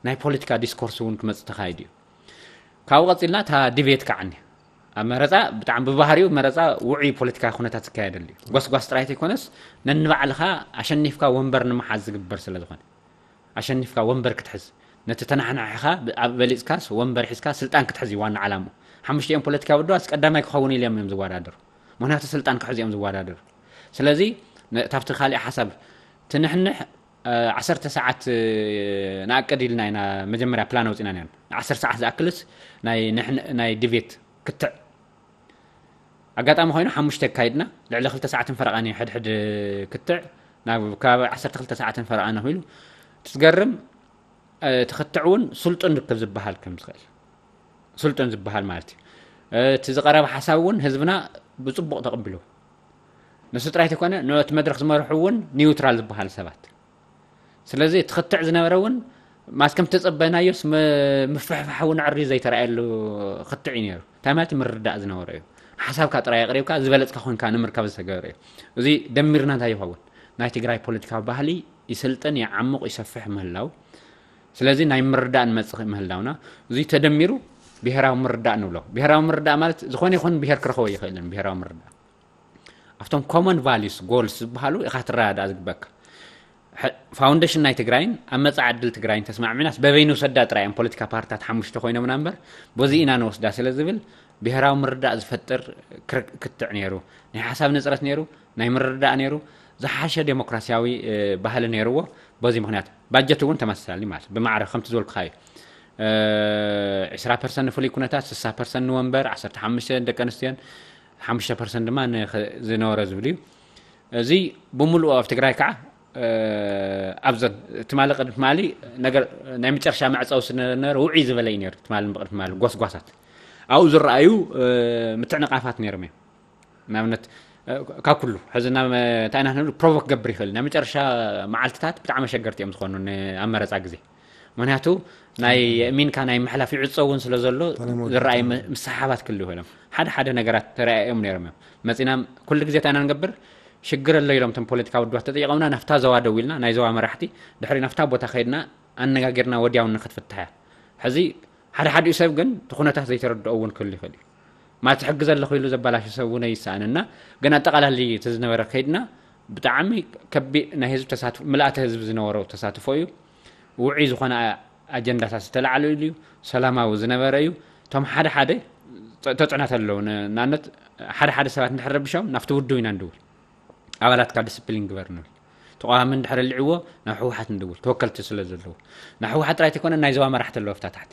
ናይ ፖለቲካ ዲስኮርስ እውን ክመፅእ ተኻይዱ እዩ። ካብኡ ቀፂልና እታ ዲቤት ከዓ እኒ ኣብ መረፃ ብጣዕሚ ብባህሪኡ መረፃ ውዑይ ፖለቲካ ኩነታት ዝካየደሉ እዩ። ጓስጓስ ጥራይ ተይኮነስ ነንባዕልኻ ኣሸኒፍካ ወንበር ንምሓዝ ዝግበር ስለ ዝኾነ ኣሸኒፍካ ወንበር ክትሕዝ ነቲ ተናሕናሒኻ በሊፅካስ ወንበር ሒዝካ ስልጣን ክትሕዝ እዩ ዋና ዓላምኡ። ሓሙሽቲኦም ፖለቲካ ውድባስ ቀዳማይ ክኸውን ኢሎም እዮም ዝወዳደሩ። ምክንያቱ ስልጣን ክሕዙ እዮም ዝወዳደሩ። ስለዚ ካብቲ ካሊእ ሓሳብ ትንሕንሕ ዓሰርተ ሰዓት ንኣቅድ ኢልና ኢና መጀመርያ ፕላን ኣውፂና ነርና። ዓሰርተ ሰዓት ዝኣክልስ ናይ ዲቤት ክትዕ ኣጋጣሚ ኮይኑ ሓሙሽተ ኣካይድና ልዕሊ ክልተ ሰዓትን ፈረቓን እዩ ሕድሕድ ክትዕ ናብ ከባቢ ዓሰርተ ክልተ ሰዓትን ፈረቓን ኣኺሉ ትዝገርም እቲ ክትዕ እውን ስልጡን ርክብ ዝበሃል ከም ዝኽእል ስልጡን ዝበሃል ማለት እዩ። እቲ ዝቐረበ ሓሳብ እውን ህዝብና ብፅቡቕ ተቐቢሉ ንሱ ጥራይ ተኮነ ነቲ መድረክ ዝመርሑ እውን ኒውትራል ዝበሃል ሰባት ስለዚ እቲ ክትዕ ዝነበረ እውን ማስ ከም ተጸበናዮስ ምፍሕፋሕ እውን ዕሪ ዘይተረኣየሉ ክትዕ እዩ ነይሩ። እንታይ ማለት ምርዳእ ዝነበረ እዩ። ሓሳብካ ጥራይ ኣቅሪብካ ዝበለጽካ ኮንካ ንምርካብ ዝተገበረ እዩ። እዚ ደሚርና እንታይ ይኸውን? ናይ ትግራይ ፖለቲካዊ ባህሊ ይስልጥን፣ ይዓሙቕ፣ ይሰፍሕ ምህላው። ስለዚ ናይ ምርዳእ ንመጽእ ምህላውና እዚ ተደሚሩ ብሄራዊ ምርዳእ ንብሎ። ብሄራዊ ምርዳእ ማለት ዝኾነ ይኹን ብሄር ክረኽቦ ይኽእልን ብሄራዊ ምርዳእ ኣብቶም ኮመን ቫሉስ ጎልስ ዝበሃሉ ኢኻ ትረዳዳእ ዝግበካ። ፋውንዴሽን ናይ ትግራይን ኣብ መፃ ዕድል ትግራይን ተስማዕሚናስ በበይኑ ሰዳ ጥራይ እዮም ፖለቲካ ፓርትታት ሓሙሽተ ኮይኖምና እምበር በዚ ኢና ንወስዳ ስለ ዝብል ብሄራዊ ምርዳእ ዝፈጥር ክትዕ ነይሩ። ናይ ሓሳብ ንፅረት ነይሩ፣ ናይ ምርዳእ ነይሩ፣ ዝሓሸ ዴሞክራሲያዊ ባህሊ ነይርዎ። በዚ ምክንያት ባጀት እውን ተመሳሳሊ ማለት ብማዕረ ከምቲ ዝበልኩካ እዩ። ዕስራ ፐርሰንት ንፍሉይ ኩነታት፣ ስሳ ፐርሰንት ንወንበር፣ ዓሰርተ ሓሙሽተ ደቂ ኣንስትዮን ሓሙሽተ ፐርሰንት ድማ ዝነበረ ዝብል እዩ። እዚ ብምሉኡ ኣብ ትግራይ ከዓ ኣብዘን ትማሊ ቅድሚ ትማሊ ነገር ናይ መጨረሻ መዕፀዊ ስነበረ ውዒ ዝበለ እዩ ነይሩ። ትማሊ ብቅድሚ ትማሊ ጎስጓሳት ኣብኡ ዝረኣዩ ምትዕንቃፋት ነይሮም እዮም። ንኣብነት ካብ ኩሉ ሕዚ ናብ እንታይ ኢና ክንብል ፕሮቮክ ክገብር ይኽእል። ናይ መጨረሻ መዓልትታት ብጣዕሚ ኣሸገርቲ እዮም ዝኾኑ ንኣመረፃ ግዜ። ምክንያቱ ናይ የእሚንካ ናይ ምሕላፍ ይዕፀ እውን ስለ ዘሎ ዝረኣይ ምስሓባት ክህልው ይኽእሎም። ሓደ ሓደ ነገራት ተረኣዮም ነይሮም እዮም። መፂና ኩሉ ግዜ እንታይ ኢና ንገብር ሽግር ኣሎ ኢሎም እቶም ፖለቲካ ውድባት ተጠይቆምና ናፍታ ዘዋ ደው ኢልና ናይ ዘዋ መራሕቲ ድሕሪ ናፍታ ቦታ ከይድና ኣነጋጊርና ወዲያውን ንክትፍትሐ ሕዚ ሓደ ሓዲኡ ሰብ ግን እቲ ኩነታት ዘይተረድኦ እውን ክህሉ ይኽእል እዩ። ማለት ሕጊ ዘለኹ ኢሉ ዘበላሹ ሰብ እውን ኣይሰኣንና። ግን ኣጠቓላሊ እቲ ዝነበረ ከይድና ብጣዕሚ ከቢ ናይ ህዝቢ ተሳትፎ ምልኣተ ህዝቢ ዝነበሮ ተሳትፎ እዩ። ውዑይ ዝኾነ ኣጀንዳታት ዝተላዕለሉ እዩ። ሰላማዊ ዝነበረ እዩ። እቶም ሓደ ሓደ ተፅዕኖት ኣለዉ። ንኣብነት ሓደ ሓደ ሰባት እንድሕር ረቢሾም ናብቲ ውድብ ኢና ንድውል። ኣባላትካ ዲስፕሊን ግበር ንብል። ተቃዋሚ እንድሕር ኣልዕዎ ናብ ህወሓት ንድውል፣ ተወከልቲ ስለ ዘለዎ። ናብ ህወሓት ጥራይ ተይኮነ ናይ ዞባ መራሕቲ ኣለዉ ኣብታ ታሕቲ።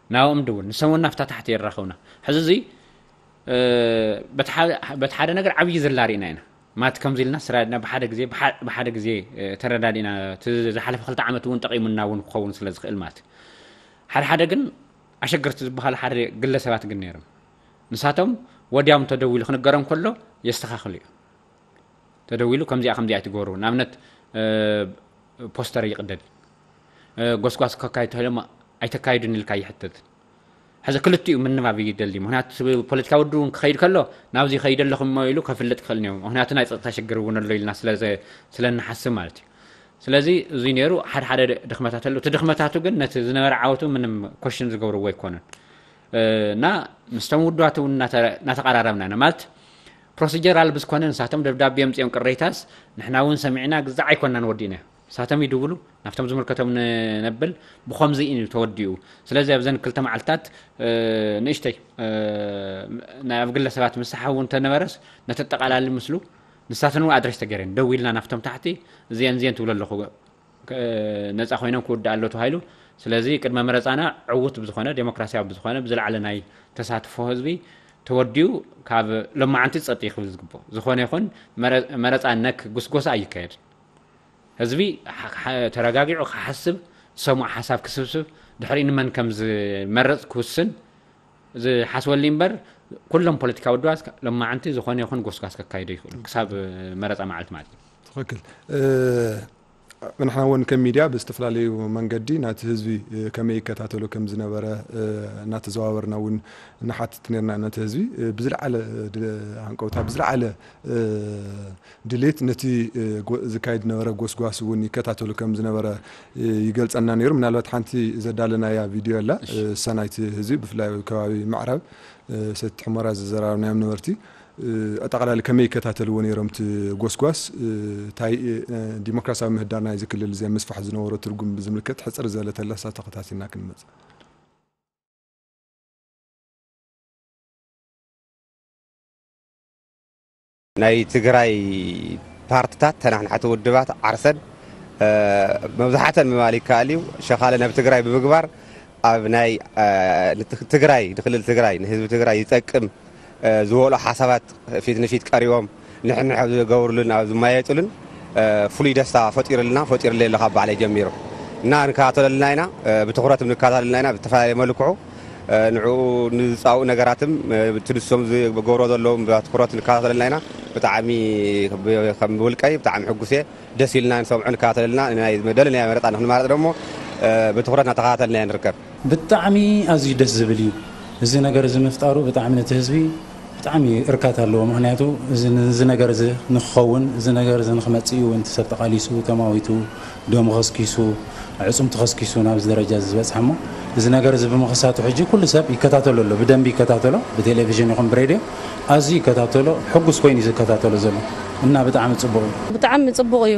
ናብኦም ድውል፣ ንሶም እውን ናብታ ታሕቲ የራኸቡና። ሕዚ እዚ፣ እ፣ በቲ ሓደ፣ በቲ ሓደ ነገር ዓብዪ ዝላ ርኢና ኢና። ማለት ከምዚ ኢልና ስራድና ብሓደ ግዜ፣ ብሓ-፣ ብሓደ ግዜ፣ እ፣ ተረዳዲእና፣ እቲ ዝሓለፈ ክልተ ዓመት እውን ጠቒሙና እውን ክኸውን ስለ ዝኽእል ማለት እዩ። ሓደ ሓደ ግን ኣሸገርቲ ዝበሃሉ ሓደ ግለሰባት ግን ነይሮም። ንሳቶም ወዲያው እንተደዊሉ ክንገሮም ከሎ የስተኻኽሉ እዩ። ተደዊሉ ከምዚኣ ከምዚኣ ኣይትገብሩ። ንኣብነት፣ እ፣ ፖስተር ይቕደድ። እ፣ ጎስጓስ ከካይድ ተባሂሎም ኣይተካይዱን ኢልካ ይሕተት። ሕዚ ክልቲኡ ምንባብ ይደሊ። ምኽንያቱ ፖለቲካዊ ውድብ እውን ክኸይድ ከሎ ናብዚ ይኸይድ ኣለኹም እሞ ኢሉ ከፍልጥ ክኽእል እኒኦ። ምኽንያቱ ናይ ጸጥታ ሽግር እውን ኣሎ ኢልና ስለ ዘ-፣ ስለ እንሓስብ ማለት እዩ። ስለዚ እዚ ነይሩ ሓደ ሓደ ድኽመታት ኣሎ። እቲ ድኽመታቱ ግን ነቲ ዝነበረ ዓወቱ ምንም ኮሽን ዝገብርዎ ኣይኮነን። እ፣ እና ምስቶም ውድባት እውን እናተ-፣ እናተቐራረብና ኢና። ማለት ፕሮሲጀራል ብዝኮነ ንሳቶም ደብዳቤ ኣምጺኦም ቅሬታስ ንሕና እውን ሰሚዕና ግዛዕ ኣይኮናን ወዲእና። ንሳቶም ይድውሉ፣ ናብቶም ዝምልከቶም ን-፣ ነብል ብኸምዚ እዩ ተወዲኡ። ስለዚ ኣብዘን ክልተ መዓልትታት፣ እ፣ ንእሽተይ፣ እ፣ ናይ ኣብ ግለሰባት ምሳሓ እውን ተነበረስ ነተጠቓላሊ ምስሉ ንሳተን እውን ኣድሬስ ተገይረን ደው ኢልና ናብቶም ታሕቲ እዚአን እዚአን ትብሉ ኣለኹ። ክ-፣ ነጻ ኮይኖም ክውዳእ ኣሎ ተባሂሉ። ስለዚ ቅድመ መረጻና ዕዉት ብዝኾነ፣ ዴሞክራሲያዊ ብዝኾነ፣ ብዝለዓለ ናይ ተሳትፎ ህዝቢ ተወዲኡ ካብ ሎማዓንቲ ጸጥ ክብል ዝግብኦ። ዝኾነ ይኹን መረ-፣ መረጻ ነክ ጉስጎሳ ኣይካየድን። ህዝቢ ሓ-፣ ሓ-፣ ተረጋጊዑ ክሓስብ፣ ዝሰምዖ ሓሳብ ክስብስብ፣ ድሕሪኡ ንመን ከም ዝመርጽ ክውስን ዝሓስበሉ እምበር፣ ኩሎም ፖለቲካዊ ውድባት ሎማዓንቲ ዝኾነ ይኹን ጎስጓስ ከካይዱ ይኽእሉ፣ ክሳብ መረጻ መዓልቲ ማለት እዩ። ትኽክል። እ፣ ንሕና እውን ከም ሚድያ ብዝተፈላለዩ መንገዲ ናቲ ህዝቢ፣ እ፣ ከመይ ይከታተሎ ከም ዝነበረ፣ እ፣ እናተዘዋወርና እውን ንሓትት ነርና። ነቲ ህዝቢ፣ እ፣ ብዝለዓለ፣ እ፣ ድ-፣ ሃንቀውታ፣ ብዝለዓለ፣ እ፣ ድሌት ነቲ፣ እ፣ ጎ-፣ ዝካየድ ነበረ ጎስጓስ እውን ይከታተሉ ከም ዝነበረ፣ እ፣ ይገልጸና ነይሩ። ምናልባት ሓንቲ ዘዳለናያ ቪድዮ ኣላ፣ እሺ። እ፣ እሳ ናይቲ ህዝቢ ብፍላይ ኣብ ከባቢ ምዕራብ፣ እ፣ ሰቲት ሑመራ ዝዘራረብናዮም ነበርቲ፣ እ፣ ኣጠቓላሊ ከመይ ይከታተልዎ ነይሮም እቲ ጎስጓስ፣ እ፣ እንታይ፣ እ፣ ዲሞክራሲያዊ ምህዳር ናይዚ ክልል እዚ ኣብ ምስፋሕ ዝነበሮ ትርጉም ብዝምልከት ሕጽር ዝበለ ተለሳ ተኸታቲልና ክንመጽእ። ናይ ትግራይ ፓርትታት፣ ተናሕናሕቲ ውድባት ዓርሰን፣ እ፣ መብዛሕተን ምባል ይከኣል እዩ፣ ሸኻለ ናብ ትግራይ ብምግባር ኣብ ናይ፣ እ፣ ንት-፣ ትግራይ፣ ንክልል ትግራይ፣ ንህዝቢ ትግራይ ይጠቅም፣ እ፣ ዝበልዑ ሓሳባት ፊት ንፊት ቀሪቦም ንሕንሕ ኣብ ዝገብሩሉን ኣብ ዝማየጡሉን፣ እ፣ ፍሉይ ደስታ ፈጢሩልና፣ ፈጢሩለይ ኣሎ ካብ ባዕለይ ጀሚሩ። እና ንከታተለልና ኢና፣ እ፣ ብትኹረት ንከታተለልና ኢና፣ ብዝተፈላለየ መልክዑ፣ እ፣ ንዕኡ ንዝጻብኡ ነገራትም፣ እ፣ እቲ ንሶም ዝገብሮ ዘለዉ ብትኹረት ንከታተለልና ኢና። ብጣዕሚ ብ-፣ ከም ውልቀይ ብጣዕሚ ሕጉስ እየ። ደስ ኢልና ንሰምዖ፣ ንከታተለልና፣ ናይ መደለናዮ መረጻ ንክንማረጽ ደሞ፣ እ፣ ብትኹረት እናተኸታተልና ኢና ንርከብ። ብጣዕሚ ኣዝዩ ደስ ዝብል እዩ። እዚ ነገር እዚ ምፍጣሩ ብጣዕሚ ነቲ ህዝቢ ብጣዕሚ እርካታ ኣለዎ። ምኽንያቱ እዚ፣ እዚ ነገር እዚ ንክኸውን፣ እዚ ነገር እዚ ንክመጽእ እዩ እውን እቲ ሰብ ተቓሊሱ፣ ተማዊቱ፣ ደሙ ከስኪሱ፣ ዕጹም ተኸስኪሱ ናብዚ ደረጃ እዚ ዝበጽሐ እሞ፣ እዚ ነገር እዚ ብምኽሳቱ ሕጂ ኩሉ ሰብ ይከታተሎ ኣሎ፣ ብደንቢ ይከታተሎ፣ ብቴሌቪዥን ይኹን ብሬድዮ ኣዝዩ ይከታተሎ፣ ሕጉስ ኮይኑ እዩ ዝከታተሎ ዘሎ እና ብጣዕሚ ጽቡቕ እዩ። ብጣዕሚ ጽቡቕ እዩ።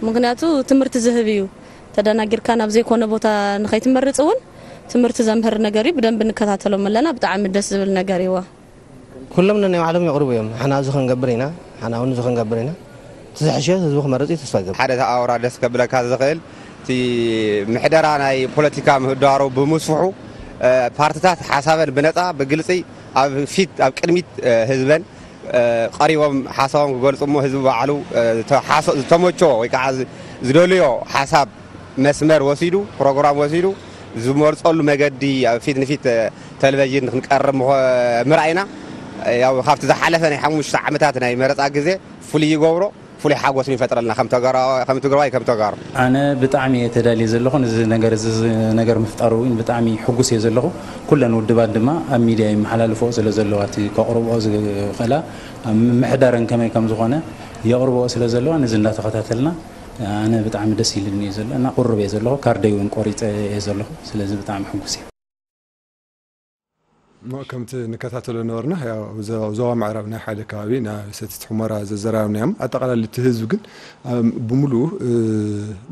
ምኽንያቱ ትምህርቲ ዝህብ እዩ። ተደናጊርካ ናብ ዘይኮነ ቦታ ንኸይትመርጽ እውን ትምህርቲ ዘምህር ነገር እዩ። ብደንቢ ንከታተሎም ኣለና። ብጣዕሚ ደስ ዝብል ነገር እዩዎ። ኩሎም ነናይ ባዕሎም የቕርቡ እዮም። ሓና እዚ ክንገብር ኢና፣ ሓና እውን እዚ ክንገብር ኢና። እቲ ዝሕሸ ህዝቢ ክመርጽ እዩ ተስፋ ይገብር። ሓደ ኣውራ ደስ ከብለካ ዝኽእል እቲ ምሕደራ ናይ ፖለቲካ ምህዳሩ ብምስፍሑ፣ እ፣ ፓርትታት ሓሳበን ብነጻ ብግልጺ ኣብ ፊት፣ ኣብ ቅድሚት፣ እ፣ ህዝበን፣ እ፣ ቀሪቦም ሓሳቦም ክገልጹ እሞ ህዝቢ ባዕሉ፣ እ፣ ተሓሶ-፣ ዝተመቸዎ ወይ ከዓ ዝ-፣ ዝደልዮ ሓሳብ መስመር ወሲዱ፣ ፕሮግራም ወሲዱ ዝመርጸሉ መገዲ ኣብ ፊት ንፊት፣ እ፣ ቴሌቪዥን ክንቀርብ ምኾ-፣ ምርኣይና፣ እ፣ ያው ካብቲ ዝሓለፈ ናይ ሓሙሽተ ዓመታት ናይ መረጻ ግዜ ፍሉይ ይገብሮ፣ ፍሉይ ሓጎስ ይፈጥረልና ከም ተጋራ-፣ ከም ትግራዋይ፣ ከም ተጋሩ። ኣነ ብጣዕሚ እየ ተዳልየ ዘለኹ። እዚ ነገር፣ እዚ ነገር ምፍጣሩ እውን ብጣዕሚ ሕጉስ እየ ዘለኹ። ኩለን ውድባት ድማ ኣብ ሚድያ ይመሓላልፍኦ ስለ ዘለዋ፣ እቲ ከቕርብኦ ዝኽእላ ኣብ ምምሕዳረን ከመይ ከም ዝኾነ የቕርብኦ ስለ ዘለዋ፣ ነዚ እንዳተኸታተልና ኣነ ብጣዕሚ ደስ ኢሉኒ እዩ ዘሎ እና ቁሩብ እየ ዘለኹ። ካርደይ እውን ቆሪፀ እየ ዘለኹ። ስለዚ ብጣዕሚ ሕጉስ እየ። ከምቲ ንከታተሎ ነበርና፣ ያው ዞ- ዞባ ምዕራብ ናይ ሓደ ከባቢ ናይ ሰቲት ሑመራ ዘዘራረብናዮም። ኣጠቓላሊ እቲ ህዝቢ ግን፣ ኣም፣ ብምሉኡ፣ እ፣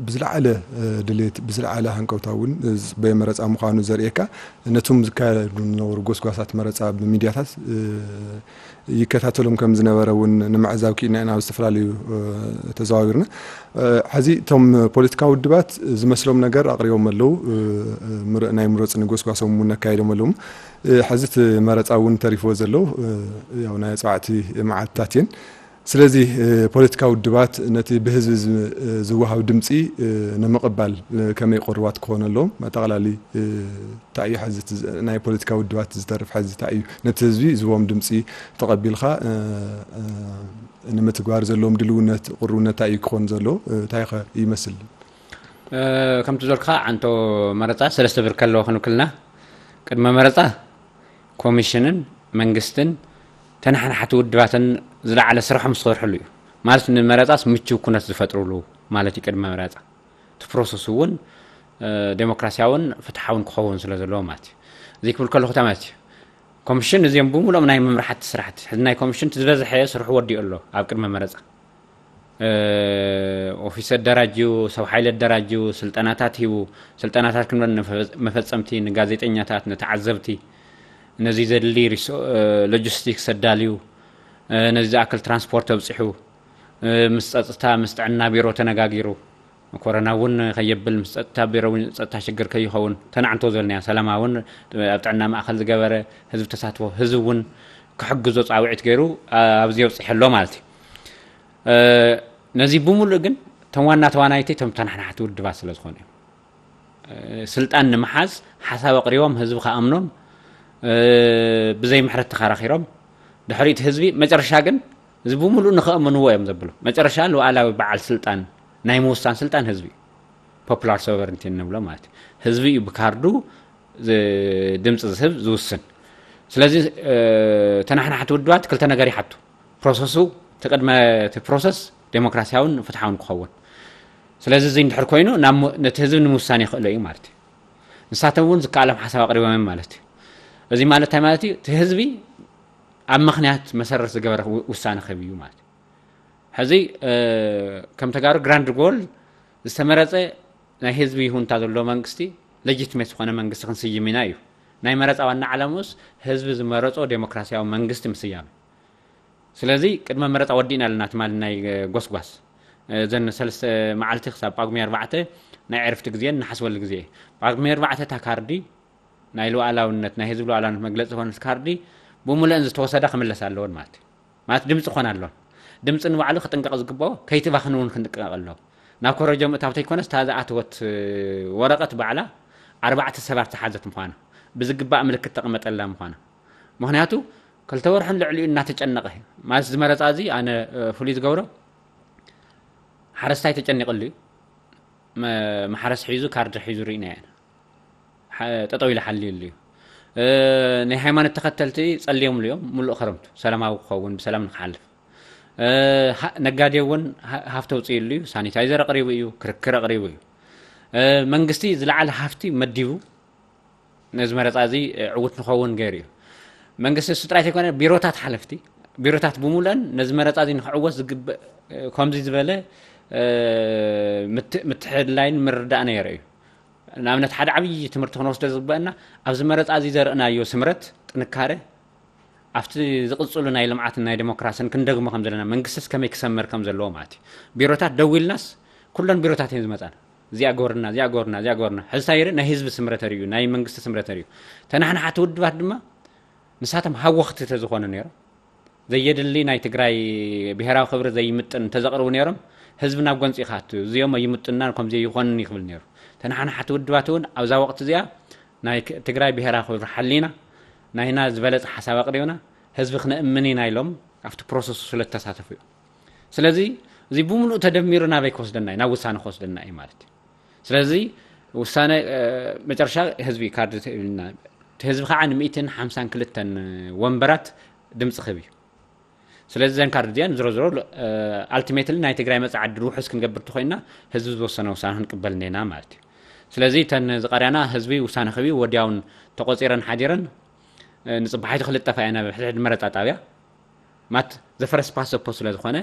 ብዝለዓለ፣ እ፣ ድሌት፣ ብዝለዓለ ሃንቀውታ እውን፣ እ፣ በየመረፃ ምዃኑ ዘርእየካ፣ ነቶም ዝካየዱ ዝነበሩ ጎስጓሳት መረፃ ብሚድያታት፣ እ፣ ይከታተሎም ከም ዝነበረ እውን ንምዕዛብ ክኢልና ኢና ኣብ ዝተፈላለዩ፣ እ፣ ተዘዋዊርና። እ፣ ሕዚ እቶም ፖለቲካዊ ውድባት ዝመስሎም ነገር ኣቕሪቦም ኣለዉ። እ፣ እ፣ ምር- ናይ ምረፁኒ ጎስጓሶም እውን ኣካይዶም ኣለዉ። እ፣ ሕዚ እቲ መረፃ እውን ተሪፍዎ ዘሎ፣ እ፣ ያው ናይ ኣፅዋዕቲ መዓልትታት እየን። ስለዚ፣ እ፣ ፖለቲካዊ ውድባት ነቲ ብህዝቢ ዝ- እ፣ ዝወሃብ ድምፂ፣ እ፣ ንምቕባል፣ እ፣ ከመይ ቅሩባት ክኾኑ ኣለዎም? ኣጠቓላሊ፣ እ፣ እንታይ እዩ ሕዚ እቲ ዝ- ናይ ፖለቲካዊ ውድባት ዝተርፍ ሕዚ እንታይ እዩ? ነቲ ህዝቢ ዝህቦም ድምፂ ተቐቢልካ፣ እ፣ እ፣ ንምትግባር ዘለዎም ድልውነት፣ ቅሩብነት እንታይ እዩ ክኾን ዘለዎ? እ፣ እንታይ ኸ ይመስል? እ፣ ከምቲ ዝበልካ፣ ዓንቶ መረፃ ሰለስተ ብርኪ ኣለዎ ክንብል ከለና፣ ቅድመ መረፃ ኮሚሽንን መንግስትን ተናሓናሕቲ ውድባትን ዝለዓለ ስርሖም ዝሰርሕሉ እዩ። ማለት ንመረፃስ ምቹው ኩነት ዝፈጥሩሉ ማለት እዩ ቅድመ መረፃ። እቲ ፕሮሰስ እውን፣ እ፣ ዴሞክራሲያውን ፍትሓውን ክኸውን ስለ ዘለዎ ማለት እዩ። እዚ ክብል ከለኹ እንታይ ማለት እዩ? ኮሚሽን እዚኦም ብምሉኦም ናይ መምራሕቲ ስራሕቲ። ሕዚ ናይ ኮሚሽን እቲ ዝበዝሐ ስርሑ ወዲኡ ኣሎ ኣብ ቅድመ መረፃ። እ፣ ኦፊስ ኣደራጅዩ፣ ሰብ ሓይሊ ኣደራጅዩ፣ ስልጠናታት ሂቡ፣ ስልጠናታት ክንብል ንፈ- መፈጸምቲ፣ ንጋዜጠኛታት፣ ንተዓዘብቲ፣ ነዚ ዘድሊ ሪሶ- እ፣ ሎጂስቲክስ ኣዳልዩ፣ እ፣ ነዚ ዝኣክል ትራንስፖርት ኣብጺሑ፣ እ፣ ምስ ጸጥታ፣ ምስ ጥዕና ቢሮ ተነጋጊሩ፣ ኮሮና እውን ከየብል፣ ምስ ጸጥታ ቢሮ እውን ጸጥታ ሽግር ከይኸውን፣ ተናዕንቶ ዘልናያ ሰላማ እውን ኣብ ጥዕና ማእከል ዝገበረ ህዝቢ ተሳትፎ፣ ህዝቢ እውን ክሕግዞ ጻውዒት ገይሩ፣ ኣ- ኣብዚ የብጽሐ ኣሎ ማለት እዩ። እ፣ ነዚ ብምሉእ ግን እቶም ዋና ተዋናይቲ እቶም ተናሕናሕቲ ውድባት ስለ ዝኾኑ እዮም። እ፣ ስልጣን ንምሓዝ ሓሳብ ኣቕሪቦም ህዝቢ ከኣምኖም፣ እ፣ ብዘይ ምሕረት ተኸራኺሮም፣ ድሕሪት ህዝቢ መጨረሻ ግን እዚ ብምሉእ ንኸእምንዎ እዮም ዘብሉ። መጨረሻ ሉዓላዊ በዓል ስልጣን ናይ ምውሳን ስልጣን ህዝቢ እዩ። ፖፑላር ሶቨረንቲ እንብሎ ማለት እዩ። ህዝቢ እዩ ብካርዱ ዝ- ድምፂ ዝህብ ዝውስን። ስለዚ፣ እ፣ ተናሕናሕቲ ውድባት ክልተ ነገር ይሓቱ። ፕሮሰሱ፣ እቲ ቅድመ እቲ ፕሮሰስ ዴሞክራሲያውን ፍትሓውን ክኸውን። ስለዚ እዚ እንድሕር ኮይኑ ናብ ሞ- ነቲ ህዝቢ ንምውሳን የኽእሎ እዩ ማለት እዩ። ንሳቶም እውን ዝከኣሎም ሓሳብ ኣቕሪቦም እዮም ማለት እዩ። እዚ ማለት እንታይ ማለት እዩ? እቲ ህዝቢ ኣብ ምኽንያት መሰረት ዝገበረ ው- ውሳነ ክህብ እዩ ማለት እዩ። ሕዚ፣ እ፣ ከም ተጋሩ ግራንድ ጎል ዝተመረፀ ናይ ህዝቢ ይሁንታ ዘለዎ መንግስቲ፣ ሌጂትሜት ዝኾነ መንግስቲ ክንስይም ኢና እዩ። ናይ መረፃ ዋና ዓላምኡስ ህዝቢ ዝመረፆ ዴሞክራሲያዊ መንግስቲ ምስያም። ስለዚ ቅድመ መረፃ ወዲእና ኣለና ትማሊ ናይ፣ እ፣ ጎስጓስ። እ፣ እዘን ሰለስተ መዓልቲ ክሳብ ጳጉሜ ኣርባዕተ ናይ ዕርፍቲ ግዜን ንሓስበሉ ግዜ። ጳጉሜ ኣርባዕተ እታ ካርዲ ናይ ሉዓላውነት፣ ናይ ህዝቢ ሉዓላውነት መግለፂ ዝኾነት ካርዲ ብምሉእን ዝተወሰዳ ክምለስ ኣለወን ማለት እዩ። ማለት ድምፂ ክኾን ኣለወን። ድምፂ ንባዕሉ ክጥንቀቕ ዝግብኦ ከይትባኽን እውን ክንጥንቀቕ ኣለዎ። ናብ ኮረጆ ምእታው ተይኮነስ እታ ዝኣተወት፣ እ፣ ወረቐት ባዕላ ኣርባዕተ ሰባት ዝሓዘት ምዃና፣ ብዝግባእ ምልክት ተቐመጠላ ምዃና። ምኽንያቱ ክልተ ወርሕን ልዕሊኡ እናተጨነቐ ማለት እዚ መረፃ እዚ ኣነ፣ እ፣ ፍሉይ ዝገብሮ ሓረስታይ ተጨኒቕሉ እዩ። መ- ማሕረስ ሒዙ ካርዲ ሒዙ ርኢና ኢና። ሓ- ጠጠው ኢሉ ሓልዩሉ እዩ። እ፣ ናይ ሃይማኖት ተኸተልቲ ጸልዮምሉ እዮም። ሙሉእ ክረምቱ ሰላማዊ ክኸውን ብሰላም ንክሓልፍ። እ፣ ሃ- ነጋዴ እውን ሃ- ሃፍቲ ኣውፅእሉ እዩ። ሳኒታይዘር ኣቕሪቡ እዩ። ክርክር ኣቕሪቡ እዩ። እ፣ መንግስቲ ዝለዓለ ሃፍቲ መዲቡ ነዚ መረፃ እዚ፣ እ፣ ዕውት ንኸውን ገይሩ እዩ። መንግስቲ እሱ ጥራይ ዘይኮነ ቢሮታት ሓለፍቲ ቢሮታት ብምሉአን ነዚ መረፃ እዚ ንክዕወት ዝግበእ፣ እ፣ ከምዚ ዝበለ፣ እ፣ ምት- ምትሕልላይን ምርዳእ ነይሩ እዩ። ንኣብነት ሓደ ዓብዪ ትምህርቲ ክንወስዶ ዝግበአና ኣብዚ መረፃ እዚ ዘርእናዮ ስምረት ጥንካረ ኣብቲ ዝቕፅሉ ናይ ልምዓትን ናይ ዴሞክራስን ክንደግሞ ከም ዘለና መንግስትስ ከመይ ክሰምር ከም ዘለዎ ማለት እዩ። ቢሮታት ደው ኢልናስ ኩለን ቢሮታት እየን ዝመፃና። እዚኣ ገበርና፣ እዚኣ ገበርና፣ እዚኣ ገበርና። ሕዚ እንታይ ይርኢ? ናይ ህዝቢ ስምረት ርዩ፣ ናይ መንግስቲ ስምረት ርዩ። ተናሕናሓቲ ውድባት ድማ ንሳቶም ሃወኽቲ ተዝኾኑ ነይሮም፣ ዘየድሊ ናይ ትግራይ ብሄራዊ ክብሪ ዘይምጥን እንተዘቕርቡ ነይሮም፣ ህዝቢ ናብ ጎንፂ ይኻቱ፣ እዚኦም ኣይምጥናን፣ ከምዚ ይኾንን ይኽብል ነይሩ። ተናሓናሓቲ ውድባት እውን ኣብዛ ወቕቲ እዚኣ ናይ ክ- ትግራይ ብሄራዊ ክብሪ ሓሊና፣ ናይና ዝበለፀ ሓሳብ ኣቕሪብና፣ ህዝቢ ክነእምን ኢና ኢሎም ኣብቲ ፕሮሰሱ ስለ ዝተሳተፉ እዩ። ስለዚ እዚ ብምሉእ ተደሚሩ ናበይ ክወስደና እዩ? ናብ ውሳነ ክወስደና እዩ ማለት እዩ። ስለዚ ውሳነ፣ እ፣ መጨረሻ ህዝቢ ካርድ ተ- ኢልና፣ እቲ ህዝቢ ከዓ ን ሚእትን ሓምሳን ክልተን ወንበራት ድምፂ ክህብ እዩ። ስለዚ እዘን ካርድ እዚኣን ዝሮ ዝሮ፣ እ፣ ኣልቲሜትሊ ናይ ትግራይ መፅዓ ዕድል ውሑስ ክንገብር እንተኮይንና ህዝቢ ዝወሰነ ውሳነ ክንቅበል እኒና ማለት እዩ። ስለዚ እተን ዝቐርያና ህዝቢ ውሳነ ክህብ እዩ፣ ወዲያውን ተቆፂረን ሓዲረን ንፅባሒቱ ክልጠፋ እያ ናብ ሕድሕድ መረፃ ጣብያ ማት ዘፈረስ ፓሰፖ ስለ ዝኾነ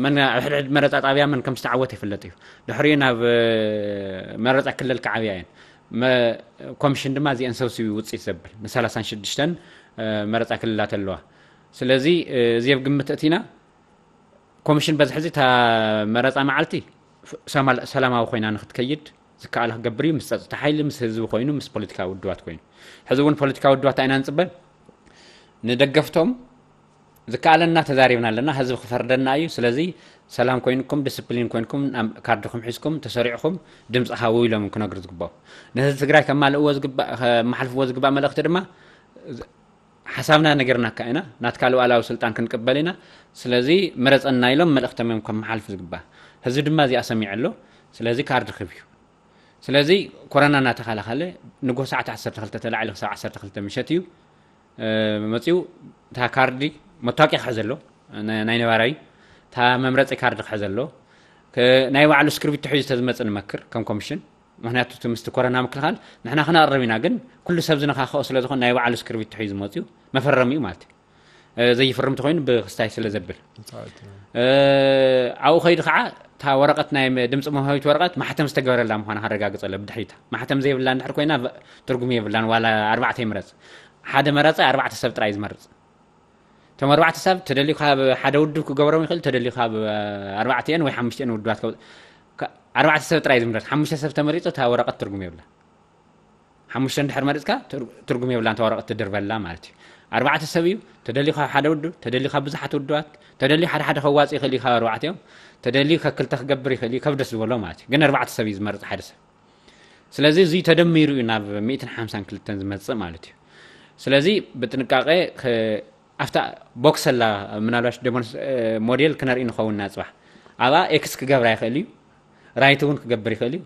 መን ኣብ ሕድሕድ መረፃ ጣብያ መን ከም ዝተዓወት ይፍለጥ እዩ። ድሕሪኡ ናብ መረፃ ክልል ክዓብያ እየን። ኮሚሽን ድማ እዚአን ሰብሲቡ ውፅኢት ዘብል ን ሰላሳን ሽዱሽተን መረፃ ክልላት ኣለዋ። ስለዚ እዚ ኣብ ግምት እቲና ኮሚሽን በዚ ሕዚ እታ መረፃ መዓልቲ ሰላማዊ ኮይና ንክትከይድ ዝከኣለ ክገብር እዩ። ምስ ፀጥታ ሓይሊ፣ ምስ ህዝቢ ኮይኑ፣ ምስ ፖለቲካዊ ውድባት ኮይኑ። ሕዚ እውን ፖለቲካዊ ውድባት ኣይና ንፅበ ንደገፍቶም ዝከኣለና ተዛሪብና ኣለና። ህዝቢ ክፈርደና እዩ። ስለዚ ሰላም ኮይንኩም፣ ዲስፕሊን ኮይንኩም፣ ካርድኩም ሒዝኩም ተሰሪዕኩም ድምፂ ሃቡ ኢሎም ክነግሩ ዝግባእ። ንህዝቢ ትግራይ ከማልእዎ ዝግባእ ከመሓልፍዎ ዝግባእ መልእክቲ ድማ ሓሳብና ነገርናካ ኢና። ናትካ ሉዓላዊ ስልጣን ክንቅበል ኢና። ስለዚ ምረፀና ኢሎም መልእክቶም እዮም ከመሓልፉ ዝግባእ። ህዝቢ ድማ እዚኣ ሰሚዑ ኣሎ። ስለዚ ካርድ ክብ እዩ። ስለዚ ኮረና እናተኸላኸለ ንጎ ሰዓት ዓሰርተ ክልተ ተላዒሉ ክሳብ ዓሰርተ ክልተ ምሸት እዩ መፂኡ። እታ ካርዲ መታወቂያ ክሕዘ ኣሎ፣ ናይ ነባራዊ እታ መምረፂ ካርዲ ክሕዘ ኣሎ። ናይ ባዕሉ እስክርቢቶ ሒዙ ተዝመፅእ ንመክር ከም ኮሚሽን። ምክንያቱ እቲ ምስቲ ኮረና ምክልኻል ንሕና ክነቕርብ ኢና፣ ግን ኩሉ ሰብ ዝነኻኽኦ ስለ ዝኾነ ናይ ባዕሉ እስክርቢቶ ሒዙ መፂኡ መፈረሚ እዩ ማለት እዩ። ዘይፍርም ተኮይኑ ብክስታይ ስለ ዘብል ኣብኡ ከይዱ ከዓ እታ ወረቀት ናይ ድምፂ መውሃቢት ወረቀት ማሕተም ዝተገበረላ ምኳና ከረጋግፀ ኣሎ። ብድሕሪታ ማሕተም ዘይብላ እንድሕር ኮይና ትርጉም የብላን። ዋላ ኣርባዕተ ይምረፅ ሓደ መረፀ ኣርባዕተ ሰብ ጥራይ ዝመርፅ። እቶም ኣርባዕተ ሰብ ተደልዩ ካብ ሓደ ውድብ ክገብሮም ይኽእል፣ ተደልዩ ካብ ኣርባዕተን ወይ ሓሙሽተን ውድባት ኣርባዕተ ሰብ ጥራይ ዝምረፅ። ሓሙሽተ ሰብ ተመሪፁ እታ ወረቀት ትርጉም የብላ። ሓሙሽተ እንድሕር መሪፅካ ትርጉም የብላ፣ እንተ ወረቐት ትድርበላ ማለት እዩ። ኣርባዕተ ሰብ እዩ ተደልዩ ካብ ሓደ ውድብ፣ ተደልዩ ካብ ብዙሓት ውድባት፣ ተደልዩ ሓደ ሓደ ከዋፅ ይኽእል እዩ ካብ ኣርባዕተ እዮም፣ ተደልዩ ከክልተ ክገብር ይኽእል እዩ፣ ከብ ደስ ዝበሎ ማለት እዩ። ግን ኣርባዕተ ሰብ እዩ ዝመርፅ ሓደ ሰብ። ስለዚ እዚ ተደሚሩ እዩ ናብ ሚእትን ሓምሳን ክልተን ዝመፅእ ማለት እዩ። ስለዚ ብጥንቃቄ ኣብታ ቦክስ ኣላ ምናልባሽ ሞዴል ክነርኢ ንኸውን ኢና ፅባሕ ኣብኣ ኤክስ ክገብራ ይኽእል እዩ፣ ራይት እውን ክገብር ይኽእል እዩ።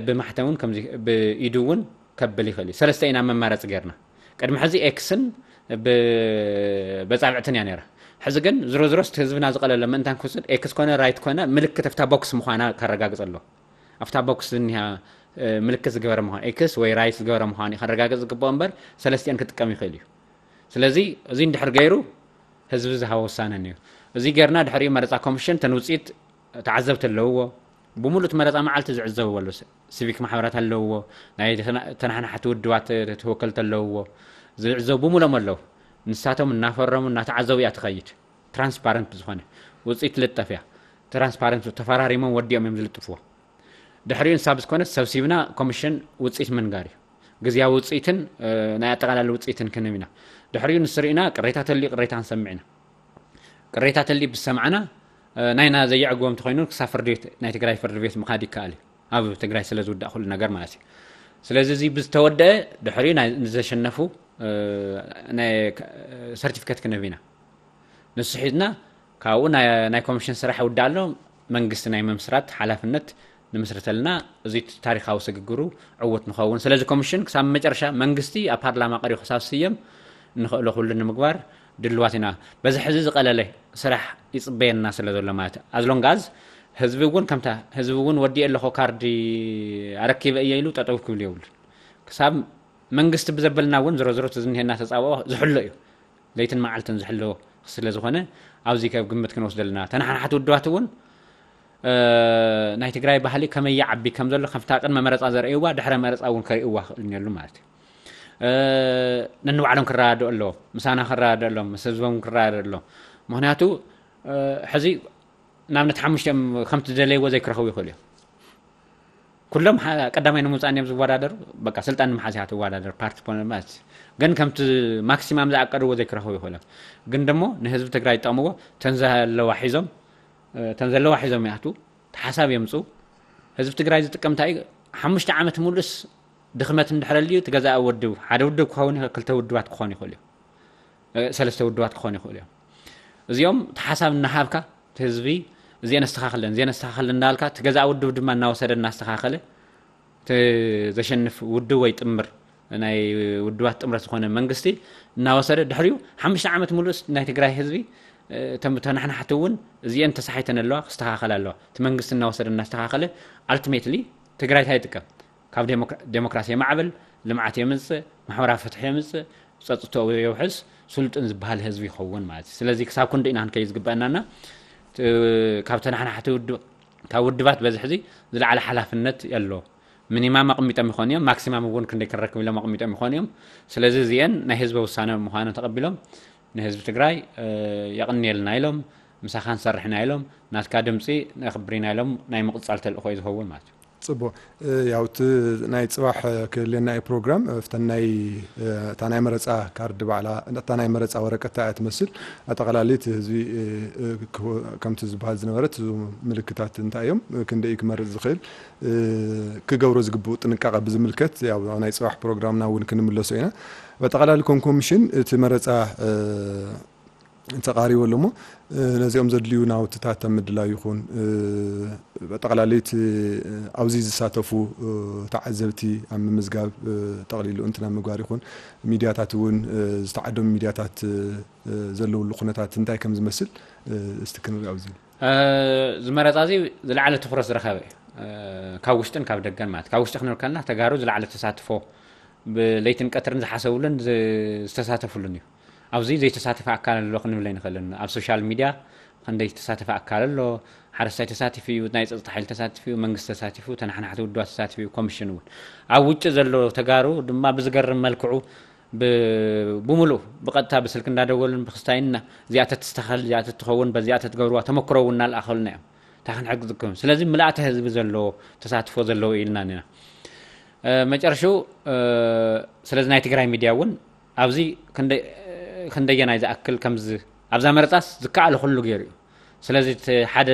ብማሕተም እውን ከምዚ ብኢዱ እውን ከብል ይኽእል እዩ። ሰለስተ ኢና መማረፂ ጌርና። ቅድሚ ሕዚ ኤክስን ብበፃብዕትን እያ ነይራ። ሕዚ ግን ዝሮ ዝሮስ ህዝብና ዝቐለለ ምእንታን ክውስድ ኤክስ ኮነ ራይት ኮነ ምልክት ኣብታ ቦክስ ምዃና ከረጋግፅ ኣሎ። ኣብታ ቦክስ ዝኒሃ ምልክት ዝገበረ ምዃኑ ኤክስ ወይ ራይት ዝገበረ ምዃኑ ከረጋግፅ ዝግብኦ እምበር ሰለስቲአን ክጥቀም ይኽእል እዩ። ስለዚ እዚ እንድሕር ገይሩ ህዝቢ ዝሃቦ ውሳነ እዩ። እዚ ጌርና ድሕሪኡ መረፃ ኮሚሽን ተን ውፅኢት ተዓዘብቲ ኣለውዎ። ብሙሉእ እቲ መረፃ መዓልቲ ዝዕዘብዎ ኣለዉ። ሲቪክ ማሕበራት ኣለውዎ፣ ናይ ተናሓናሕቲ ውድባት ተወከልቲ ኣለውዎ። ዝዕዘቡ ብሙሎም ኣለዉ። ንሳቶም እናፈረሙ እናተዓዘቡ እያ ትኸይድ። ትራንስፓረንት ብዝኾነ ውፅኢት ትልጠፍ እያ። ትራንስፓረንት ተፈራሪሞም ወዲኦም እዮም ዝልጥፍዎ። ድሕሪኡ ንሳ ብዝኮነት ሰብሲብና ኮሚሽን ውፅኢት ምንጋር እዩ። ግዝያዊ ውፅኢትን ናይ ኣጠቃላሊ ውፅኢትን ክንህብ ኢና። ድሕሪኡ ንስርኢና ቅሬታ ተልዩ ቅሬታ ክንሰምዕ ኢና። ቅሬታ ተልዩ ብዝሰማዕና ናይና ዘየዕግቦም ተኮይኑ ክሳብ ፍርዲ ቤት ናይ ትግራይ ፍርዲ ቤት ምኻድ ይከኣል እዩ። ኣብ ትግራይ ስለ ዝውዳእ ኩሉ ነገር ማለት እዩ። ስለዚ እዚ ብዝተወደአ ድሕሪኡ ንዘሸነፉ ሰርቲፊኬት ክንህብ ኢና። ንሱ ሒዝና ካብኡ ናይ ኮሚሽን ስራሕ ይውዳእ ኣሎ። መንግስቲ ናይ ምምስራት ሓላፍነት ንምስርተልና እዚ ታሪካዊ ስግግሩ ዕውት ንኸውን። ስለዚ ኮሚሽን ክሳብ መጨረሻ መንግስቲ ኣብ ፓርላማ ቀሪቡ ክሳብ ስየም ንኽእሎ ኩሉ ንምግባር ድልዋት ኢና። በዚ ሕዚ ዝቐለለ ስራሕ ይፅበየና ስለ ዘሎ ማለት ኣዝሎንጋዝ ህዝቢ እውን ከምታ ህዝቢ እውን ወዲኤ ኣለኹ ካርዲ ኣረኪበ እየ ኢሉ ጠጠው ክብል የብሉን። ክሳብ መንግስቲ ብዘበልና እውን ዝሮ ዝሮ ዝኒሄና ተፃብኦ ዝሕሎ እዩ። ለይትን መዓልትን ዝሕሎ ስለ ዝኾነ ኣብዚ ከብ ግምት ክንወስደልና ተናሓናሓቲ ውድባት እውን ናይ ትግራይ ባህሊ ከመይ ይዓቢ ከም ዘሎ ከምታ ቅድመ መረፃ ዘርእይዋ ድሕረ መረፃ እውን ከርእይዋ ክእል እኒሉ ማለት እዩ። ነንባዕሎም ክረዳድኡ ኣለዎም፣ ምሳና ክረዳድኡ ኣለዎም፣ ምስ ህዝቦም ክረዳድኡ ኣለዎም። ምክንያቱ ሕዚ ንኣብነት ሓሙሽቲኦም ከምቲ ዝደለይዎ ዘይክረኽቡ ይኽእሉ እዮም። ኩሎም ቀዳማይ ንምውፃእ እዮም ዝወዳደሩ። በቃ ስልጣን ንምሓዝ እያ ትወዳደር ፓርቲ ፖለቲካ ግን ከምቲ ማክሲማም ዝኣቀድዎ ዘይክረኽቡ ይኽእሉ እዮም። ግን ደሞ ንህዝቢ ትግራይ ዝጠቕምዎ ተን ዘለዋ ሒዞም ተን ዘለዋ ሒዞም ይኣትዉ፣ ተሓሳብ የምፅኡ። ህዝቢ ትግራይ ዝጥቀም እንታይ እዩ? ሓሙሽተ ዓመት ሙሉስ ድኽመት እንድሕር ኣልዩ እቲ ገዛኢ ውድብ ሓደ ውድብ ክኸውን ይኽእል፣ ክልተ ውድባት ክኾኑ ይኽእሉ እዮም፣ ሰለስተ ውድባት ክኾኑ ይኽእሉ እዮም። እዚኦም እቲ ሓሳብ እናሃብካ እቲ ህዝቢ እዚአን ኣስተኻኽለን እዚአን ኣስተኻኽለን እንዳልካ እቲ ገዛኢ ውድብ ድማ እናወሰደ እናስተኻኸለ እቲ ዘሸንፍ ውድብ ወይ ጥምር ናይ ውድባት ጥምረት ዝኾነ መንግስቲ እናወሰደ ድሕሪኡ ሓሙሽተ ዓመት ሙሉእ ናይ ትግራይ ህዝቢ እቶም ተናሕናሕቲ እውን እዚአን ተሳሒተን ኣለዋ ክስተኻኸላ ኣለዋ። እቲ መንግስቲ እናወሰደ እናስተኻኸለ ኣልቲሜትሊ ትግራይ እንታይ ይጥቀም? ካብ ዴሞክራሲ የማዕብል፣ ልምዓት የምፅእ፣ ማሕበራዊ ፍትሒ የምፅእ፣ ጸጥትኡ የውሕስ፣ ስልጡን ዝበሃል ህዝቢ ይኸውን ማለት እዩ። ስለዚ ክሳብ ክንዲ ኢና ክንከይድ ዝግበአናና። እ፣ ካብ ተናሓናሕቲ ውድብ፣ ካብ ውድባት በዚ ሕዚ ዝለዓለ ሓላፍነት ኣሎ። ሚኒማም ኣቕሚጦም ይኾኑ እዮም፣ ማክሲማም እውን ክንደይ ክንረክብ ኢሎም ኣቕሚጦም ይኾኑ እዮም። ስለዚ እዚአን ናይ ህዝቢ ውሳነ ምዃኑ ተቐቢሎም ንህዝቢ ትግራይ፣ እ፣ የቕንየልና ኢሎም፣ ምሳኻ ንሰርሕ ኢና ኢሎም፣ ናትካ ድምፂ ነኽብር ኢና ኢሎም ናይ ምቕፃል ተልእኾ እዩ ዝኸውን ማለት እዩ። ጽቡቕ። እ፣ ያው እቲ ናይ ጽባሕ፣ እ፣ ክህልየና እዩ ፕሮግራም። እ፣ እፍተን ናይ፣ እ፣ እታ ናይ መረጻ ካርድ ባዕላ፣ እታ ናይ መረጻ ወረቀት እታ እያ ትመስል። ኣጠቓላሊ እቲ ህዝቢ፣ እ፣ እ፣ ክህ-፣ ከምቲ ዝበሃል ዝነበረ እቲ ምልክታት እንታይ እዮም፣ እ፣ ክንደይ እዩ ክመርጽ ዝኽእል፣ እ፣ ክገብሮ ዝግብኡ ጥንቃቐ ብዝምልከት ያው ናይ ጽባሕ ፕሮግራምና እውን ክንምለሶ ኢና። ብኣጠቓላሊ ከም ኮሚሽን እቲ መረጻ፣ እ፣ ተቓሪቡ ኣሎ እሞ፣ እ፣ ነዚኦም ዘድልዩ ናውትታት ኣብ ምድላው ይኹን፣ እ፣ ብኣጠቓላሊ እቲ፣ እ፣ ኣብዚ ዝሳተፉ፣ እ፣ ተዓዘብቲ ኣብ ምምዝጋብ፣ እ፣ ጠቕሊሉ እንትን ኣብ ምግባር ይኹን፣ ሚድያታት እውን፣ እ፣ ዝተዓደሙ ሚድያታት፣ እ፣ ዘለውሉ ኩነታት እንታይ ከም ዝመስል፣ እ፣ እስቲ ክንርኢ ኣብዚ። እ፣ እዚ መረጻ እዚ ዝለዓለ ትኹረት ዝረኸበ እዩ። እ፣ ካብ ውሽጥን ካብ ደገን ማለት፣ ካብ ውሽጢ ክንብል ከለና ተጋሩ ዝለዓለ ተሳትፎ ብለይትን ቀትርን ዝሓሰብሉን ዝ-፣ ዝተሳተፍሉን እዩ። ኣብዚ ዘይተሳተፈ ኣካል ኣሎ ክንብል ኣይንኽእልን። ኣብ ሶሻል ሚድያ ክንደይ ዝተሳተፈ ኣካል ኣሎ። ሓረስታይ ተሳቲፉ እዩ፣ ናይ ጸጥታ ሓይሊ ተሳቲፉ እዩ፣ መንግስቲ ተሳቲፉ፣ ተናሓናሕቲ ውድባት ተሳቲፉ እዩ፣ ኮሚሽን እውን። ኣብ ውጭ ዘሎ ተጋሩ ድማ ብዝገርም መልክዑ ብ-፣ ብምሉእ ብቐጥታ ብስልኪ እንዳደወሉን ብክስታይን እና-፣ እዚኣ ተትስተኻኸል፣ እዚኣ ተትኸውን፣ በዚኣ ተትገብርዋ ተመክሮ እውን እናልኣኸሉና እዮም። እንታይ ክንሕግዝኩም? ስለዚ ምልኣተ ህዝቢ ዘለዎ ተሳትፎ ዘለዎ ኢልና ኢና። እ፣ መጨረሽኡ፣ እ፣ ስለዚ ናይ ትግራይ ሚድያ እውን ኣብዚ ክንደ-፣ ክንደየናይ ዝኣክል ከምዚ ኣብዛ መረጻስ ዝከኣለ ኩሉ ገይሩ እዩ። ስለዚ እቲ ሓደ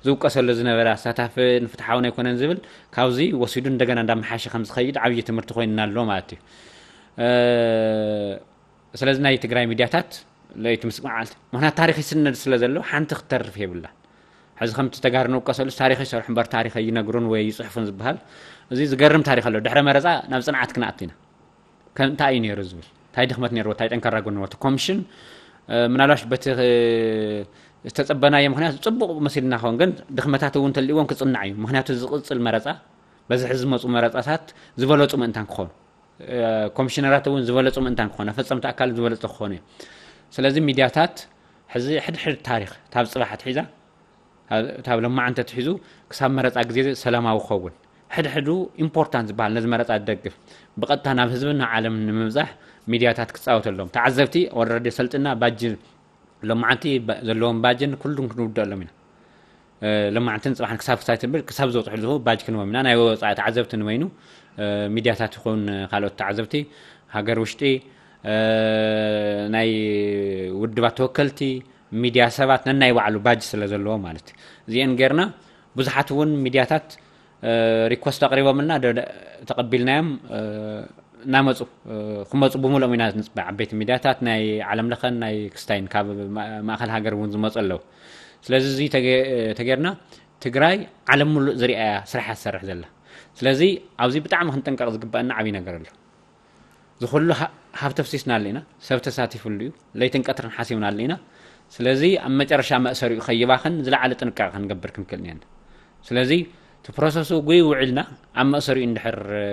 ዝውቀሰሉ ዝነበረ ኣሳታፍን ፍትሓውን ኣይኮነን ዝብል ካብዚ ወሲዱ እንደገና እንዳመሓሸ ከም ዝኸይድ ዓብዪ ትምህርቲ ኮይንና ኣሎ ማለት እዩ። እ፣ ስለዚ ናይ ትግራይ ሚድያታት ለይቲ ምስ መዓልቲ፣ ምኽንያት ታሪኽ ይስነድ ስለ ዘሎ ሓንቲ ክትተርፍ የብላን። ሕዚ ከምቲ ተጋሩ ንውቀሰሉ ታሪኽ ይሰርሑ እምበር ታሪኽ ኣይነግሩን ወይ ይፅሕፉን ዝበሃል፣ እዚ ዝገርም ታሪኽ ኣሎ። ድሕረ መረፃ ናብ ፅንዓት ክንኣቱ ኢና። ከ-፣ እንታይ እዩ ነይሩ ዝብል፣ እንታይ ድኽመት ነይርዎ፣ እንታይ ጠንካራ ጎኒ ነይርዎ? እቲ ኮሚሽን፣ እ፣ ምናልባሽ በቲ፣ እ፣ ዝተጸበናዮ ምኽንያት ጽቡቕ መሲልና ክኸውን፣ ግን ድኽመታት እውን ተልእዎም ክጽናዕ እዩ። ምኽንያቱ ዝቕጽል መረጻ፣ በዚ ሕዚ ዝመጹ መረጻታት ዝበለጹ ምእንታን ክኾኑ፣ እ፣ ኮሚሽነራት እውን ዝበለጹ ምእንታን ክኾኑ፣ ኣፈጸምቲ ኣካል ዝበለጹ ክኾኑ እዮም። ስለዚ ሚድያታት ሕዚ ሕድሕድ ታሪኽ፣ ካብ ጽባሕ ኣትሒዛ፣ ካብ፣ ካብ ለማዓንቲ ኣትሒዙ ክሳብ መረጻ ግዜ ሰላማዊ ክኸውን፣ ሕድሕዱ ኢምፖርታንት ዝበሃል ነዚ መረጻ ዝደግፍ ብቐጥታ ናብ ህዝብን ናብ ዓለምን ንምብጻሕ ሚድያታት ክጻወቱ ኣለዎም። ተዓዘብቲ ኦልረዲ ሰልጥና ባጅ፣ ሎማዓንቲ ባ-፣ ዘለዎም ባጅን ኩሉን ክንውድኣሎም ኢና። እ፣ ሎማዓንትን ጽባሕን ክሳብ ክሳይ ትብል ክሳብ ዝበጽሑ ዝህቡ ባጅ ክንዎም ኢና። ናይ ወጻኢ ተዓዘብቲ ንበይኑ፣ እ፣ ሚድያታት ይኹን ካልኦት ተዓዘብቲ፣ ሃገር ውሽጢ፣ እ፣ ናይ ውድባት ተወከልቲ፣ ሚድያ ሰባት ነናይ ባዕሉ ባጅ ስለ ዘለዎ ማለት እዩ። እዚአን ጌርና ብዙሓት እውን ሚድያታት፣ እ፣ ሪኮስት ኣቕሪቦምልና ደ-፣ ደ-፣ ተቐቢልናዮም፣ እ፣ እናመፁ፣ እ፣ ክመፁ ብምልኦም ኢና ንፅበ። ዓበይቲ ሚድያታት ናይ ዓለም ለኸን ናይ ክስታይን ካብ ማ-፣ ማእኸል ሃገር እውን ዝመፁ ኣለዉ። ስለዚ እዚ ተገ-፣ ተጌርና ትግራይ ዓለም ሙሉእ ዝሪኣያ ስራሕ እያ ትሰርሕ ዘላ። ስለዚ ኣብዚ ብጣዕሚ ክንጥንቀቕ ዝግበአና ዓብዪ ነገር ኣሎ። ዝኹሉ ሃ-፣ ሃብቲ ኣፍሲስናሉ ኢና፣ ሰብ ተሳቲፍሉ እዩ፣ ለይትን ቀትርን ሓሲብናሉ ኢና። ስለዚ ኣብ መጨረሻ መእሰሪኡ ከይባኽን ዝለዓለ ጥንቃቐ ክንገብር ክንክእል እኒአና። ስለዚ እቲ ፕሮሰሱ ጉይ ውዒልና ኣብ መእሰሪኡ እንድሕር፣ እ፣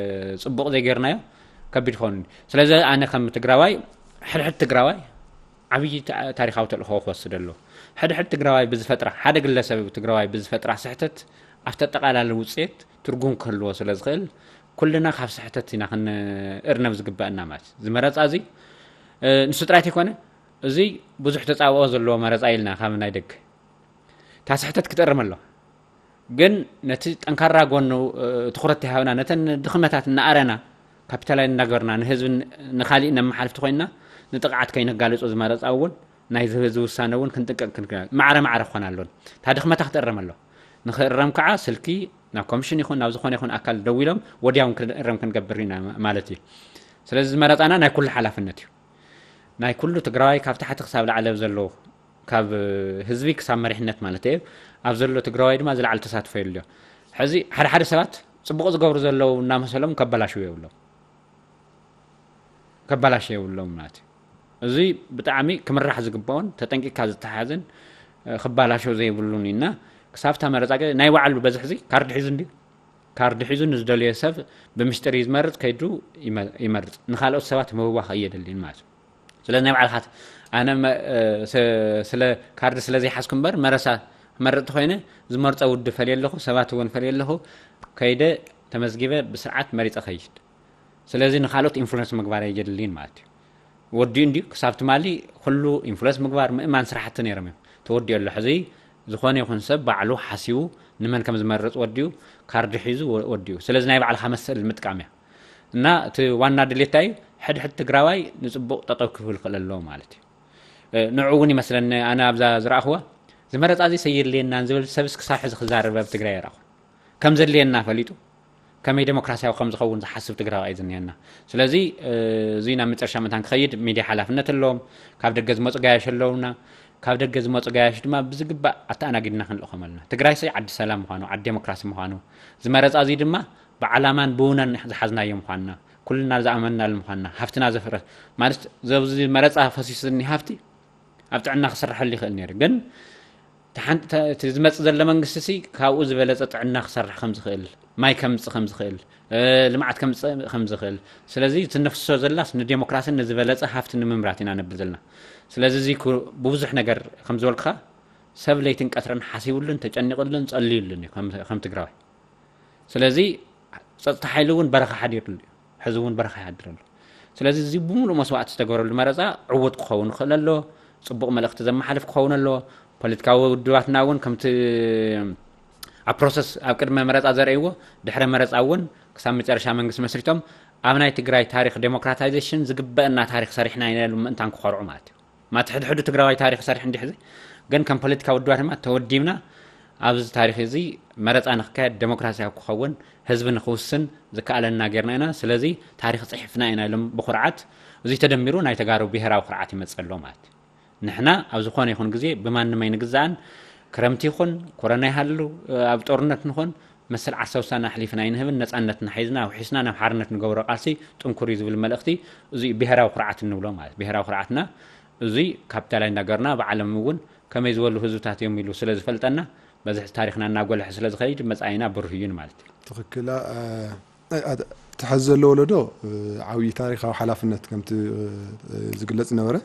ጽቡቕ ዘይጌርናዮ ከቢድ ክኸውን እዩ። ስለዚ ኣነ ከም ትግራዋይ፣ ሕድሕድ ትግራዋይ ዓብዪ ታ-፣ ታሪኻዊ ተልእኾ ክወስድ ኣለዎ። ሕድሕድ ትግራዋይ ብዝፈጥራ፣ ሓደ ግለሰብ ትግራዋይ ብዝፈጥራ ስሕተት ኣብቲ ኣጠቓላሊ ውፅኤት ትርጉም ክህልዎ ስለ ዝኽእል፣ ኩልና ካብ ስሕተት ኢና ክንእርነብ ዝግበአና ማለት እዩ። እዚ መረፃ እዚ፣ እ፣ ንሱ ጥራይ ተይኮነ፣ እዚ ብዙሕ ተፃብኦ ዘለዎ መረፃ ኢልና ካብ ናይ ደገ። እታ ስሕተት ክትእረም ኣለዋ። ግን ነቲ ጠንካራ ጎኑ፣ እ፣ ትኹረት ተሃብና፣ ነተን ድኽመታት እናኣረና፣ ካፒታላይዝ እናገበርና፣ ንህዝቢ ን-፣ ንኻሊእ ነመሓልፍ ተኾይንና፣ ንጥቕዓት ከይነጋልጾ ዝመረጻ እውን፣ ናይ ዝህቢ ዝውሳነ እውን ክንጥንቀቕ ክንክእል። ማዕረ ማዕረ ክኾን ኣለዎን። እታ ድኽመታ ክትእረም ኣለዋ። ንኽእረም ከዓ ስልኪ ናብ ኮሚሽን ይኹን ናብ ዝኾነ ይኹን ኣካል ደዊሎም ወዲያውን ክእረም ክንገብር ኢና ማ-፣ ማለት እዩ። ስለዚ ዝመረጻና ናይ ኩሉ ሓላፍነት እዩ። ናይ ኩሉ ትግራዋይ ካብ ታሕቲ ክሳብ ላዕሊ ኣብ ዘለዉ፣ ካብ ህዝቢ ክሳብ መሪሕነት ማለት እዩ፣ ኣብ ዘሎ ትግራዋይ ድማ ዝለዓለ ተሳትፎ የድልዮ። ሕዚ ሓደ ሓደ ሰባት ጽቡቕ ዝገብሩ ዘለዉ እናመሰሎም ከበላሽዉ የብሎም፣ ከበላሽ የብሎም ማለት እዩ። እዚ ብጣዕሚ ክምራሕ ዝግባኦን ተጠንቂቕካ ዝተሓዝን፣ እ፣ ክበላሾ ዘይብሉን ኢና። ክሳብ እታ መረጻ ገ-፣ ናይ ባዕሉ በዝሒ እዚ ካርድ ሒዙ እንድዩ። ካርድ ሒዙ ንዝደልዮ ሰብ ብምስጢር እዩ ዝመርጽ፣ ከይዱ ይመ-፣ ይመርጽ። ንኻልኦት ሰባት ምብዋኽ ኣየደልን ማለት እዩ። ስለ ናይ ባዕልኻ ኣነ መ- እ፣ ስ- ስለ ካርድ ስለ ዘይሓዝኩ እምበር መረሳ መረጥቲ ኮይነ ዝመርፀ ውድብ ፈልየ ኣለኹ፣ ሰባት እውን ፈልየ ኣለኹ። ከይደ ተመዝጊበ ብስርዓት መሪፀ ከይድ። ስለዚ ንካልኦት ኢንፍሉንስ ምግባር ኣየድልይን ማለት እዩ። ወዲኡ እንዲዩ ክሳብ ትማሊ ኩሉ ኢንፍሉንስ ምግባር ምእማን ስራሕቲ ነይሮም እዮም። ተወዲኡ ኣሎ። ሕዚ ዝኾነ ይኹን ሰብ ባዕሉ ሓሲቡ ንመን ከም ዝመርፅ ወዲኡ ካርዲ ሒዙ ወ- ወዲኡ። ስለዚ ናይ ባዕልኻ መሰል ምጥቃም እያ። እና እቲ ዋና ድሌት እንታይ እዩ? ሕድሕድ ትግራዋይ ንፅቡቕ ጠጠው ክብል ክእል ኣለዎ ማለት እዩ። እ፣ ንዑ እውን ይመስለኒ ኣነ ኣብዛ ዝረኣኽዋ ዝመረፃ እዚ ሰየድልየናን ዝብል ሰብስ ክሳብ ሕዚ ክዛረብ ኣብ ትግራይ ይረኣኹ። ከም ዘድልየና ፈሊጡ ከመይ ዴሞክራሲያዊ ከም ዝኸውን ዝሓስብ ትግራዋይ እዩ ዝኒሀና። ስለዚ እ፣ እዚ ናብ መጨረሻ መታን ክኸይድ ሚድያ ሓላፍነት ኣለዎም። ካብ ደገ ዝመፁ ጋያሽ ኣለውና። ካብ ደገ ዝመፁ ጋያሽ ድማ ብዝግባእ ኣተኣናጊድና ክንልእኾም ኣለና። ትግራይ ሰይ ዓዲ ሰላም ምዃኑ፣ ዓዲ ዴሞክራሲ ምዃኑ፣ ዝመረፃ እዚ ድማ ብዓላማን ብውነን ዝሓዝናዮ ምዃንና፣ ኩልና ዝኣመንናሉ ምዃንና፣ ሃፍትና ዘፍረ ማለት ዘብዚ መረፃ ፈሲሱ ዝኒ ሃፍቲ ኣብ ጥዕና ክስርሐሉ ይኽእል ነይሩ። ግን እቲ ሓንቲ- እቲ ዝመፅእ ዘሎ መንግስቲ ሲ ካብኡ ዝበለፀ ጥዕና ክሰርሕ ከም ዝኽእል፣ ማይ ከምፅእ ከም ዝኽእል፣ እ፣ ልምዓት ከምፅእ ከም ዝኽእል፣ ስለዚ እቲ ነፍሶ ዘላስ ንዴሞክራሲን ንዝበለፀ ሃፍቲ ንምምራት ኢና ነብል ዘለና። ስለዚ እዚ ኩ- ብብዙሕ ነገር ከም ዝበልኩኻ ሰብ ለይትን ቀትርን ሓሲቡሉን ተጨኒቕሉን ጸልዩሉን እዩ ከም- ከም ትግራዋይ። ስለዚ ጸጥታ ሓይሊ እውን በረኻ ሓዲሩሉ እዩ። ሕዚ እውን በረኻ ይሓድር ኣሎ። ስለዚ እዚ ብምሉእ መስዋእቲ ዝተገበረሉ መረፃ ዕዉት ክኸውን ይኽእል ኣሎ። ፅቡቕ መልእኽቲ ዘመሓልፍ ክኸውን ኣሎ። ፖለቲካዊ ውድባትና እውን ከምቲ ኣብ ፕሮሰስ ኣብ ቅድመ መረፃ ዘርእይዎ ድሕረ መረፃ እውን ክሳብ መጨረሻ መንግስቲ መስሪቶም ኣብ ናይ ትግራይ ታሪክ ዴሞክራታይዜሽን ዝግበአና ታሪክ ሰሪሕና ኢና ኢሎም ምእንታን ክኾርዑ ማለት እዩ። ማቲ ሕድሕዱ ትግራዋይ ታሪክ ሰርሕ እንዲሕ እዚ ግን ከም ፖለቲካ ውድባት ድማ ተወዲብና ኣብዚ ታሪክ እዚ መረፃ ንክካየድ ዴሞክራሲያዊ ክኸውን ህዝቢ ንክውስን ዝከኣለና ጌርና ኢና። ስለዚ ታሪክ ፅሒፍና ኢና ኢሎም ብኩርዓት እዚ ተደሚሩ ናይ ተጋሩ ብሄራዊ ኩርዓት ይመፅእ ኣሎ ማለት እዩ። ንሕና ኣብ ዝኾነ ይኹን ግዜ ብማንም ኣይንግዛእን። ክረምቲ ይኹን ኮረና ይሃሉ ኣብ ጦርነት ንኾን መሰል ዓርሰ ውሳነ ኣሕሊፍና ኣይንህብን። ነፃነትና ሒዝና ኣውሒስና ናብ ሓርነት ንገብሮ ቃልሲ ጥንኩር እዩ ዝብል መልእኽቲ እዚ እዩ ብሄራዊ ኩርዓት እንብሎ ማለት ብሄራዊ ኩርዓትና እዚ ካፒታላይ እንዳገርና ብዓለም እውን ከመይ ዝበሉ ህዝብታት እዮም ኢሉ ስለ ዝፈልጠና በዚ ታሪክና እናጎልሐ ስለ ዝኸይድ መፃኢና ብሩህ እዩን ማለት እዩ። ትኽክል። እ፣ እ፣ እቲ ሐዚ ዘሎ ወለዶ እ፣ ዓብዪ ታሪካዊ ሓላፍነት ከምቲ እ፣ እ፣ ዝግለጽ ነበረ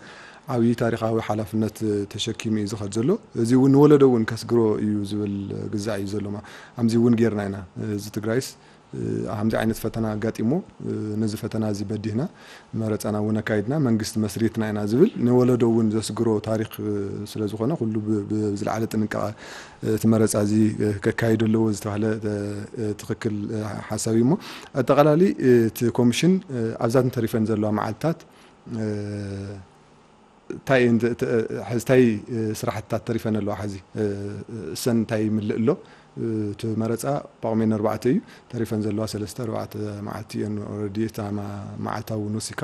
ዓብዪ ታሪካዊ ሓላፍነት እ፣ ተሸኪሙ እዩ ዝኸድ ዘሎ። እዚ እውን ንወለዶ እውን ከስግሮ እዩ ዝብል ግዛዕ እዩ ዘሎ። ማ- ከምዚ እውን ጌርና ኢና። እ፣ እዚ ትግራይስ እ፣ ከምዚ ዓይነት ፈተና ኣጋጢሞ እ፣ ነዚ ፈተና እዚ በዲህና መረፃና እውን ኣካይድና መንግስቲ መስሪትና ኢና ዝብል ንወለዶ እውን ዘስግሮ ታሪክ እ፣ ስለ ዝኾነ ኩሉ ብ- ብ- ብዝለዓለ ጥንቃቐ እቲ መረፃ እዚ ከካይዶ ኣለዎ ዝተባህለ ትክክል ሓሳብ እዩ። እሞ ኣጠቃላሊ እቲ ኮሚሽን ኣብዛን ተሪፈን ዘለዋ መዓልትታት እንታይ እንታይ ስራሕትታት ተሪፈን ኣለዋ? ሕዚ እሰን እንታይ ይምልእ ኣሎ? እቲ መረፃ ጳጉሜን ኣርባዕተ እዩ። ተሪፈን ዘለዋ ሰለስተ ኣርባዕተ መዓልቲ እየን። ኦረዲ እታ መዓልታ እውን ወሲካ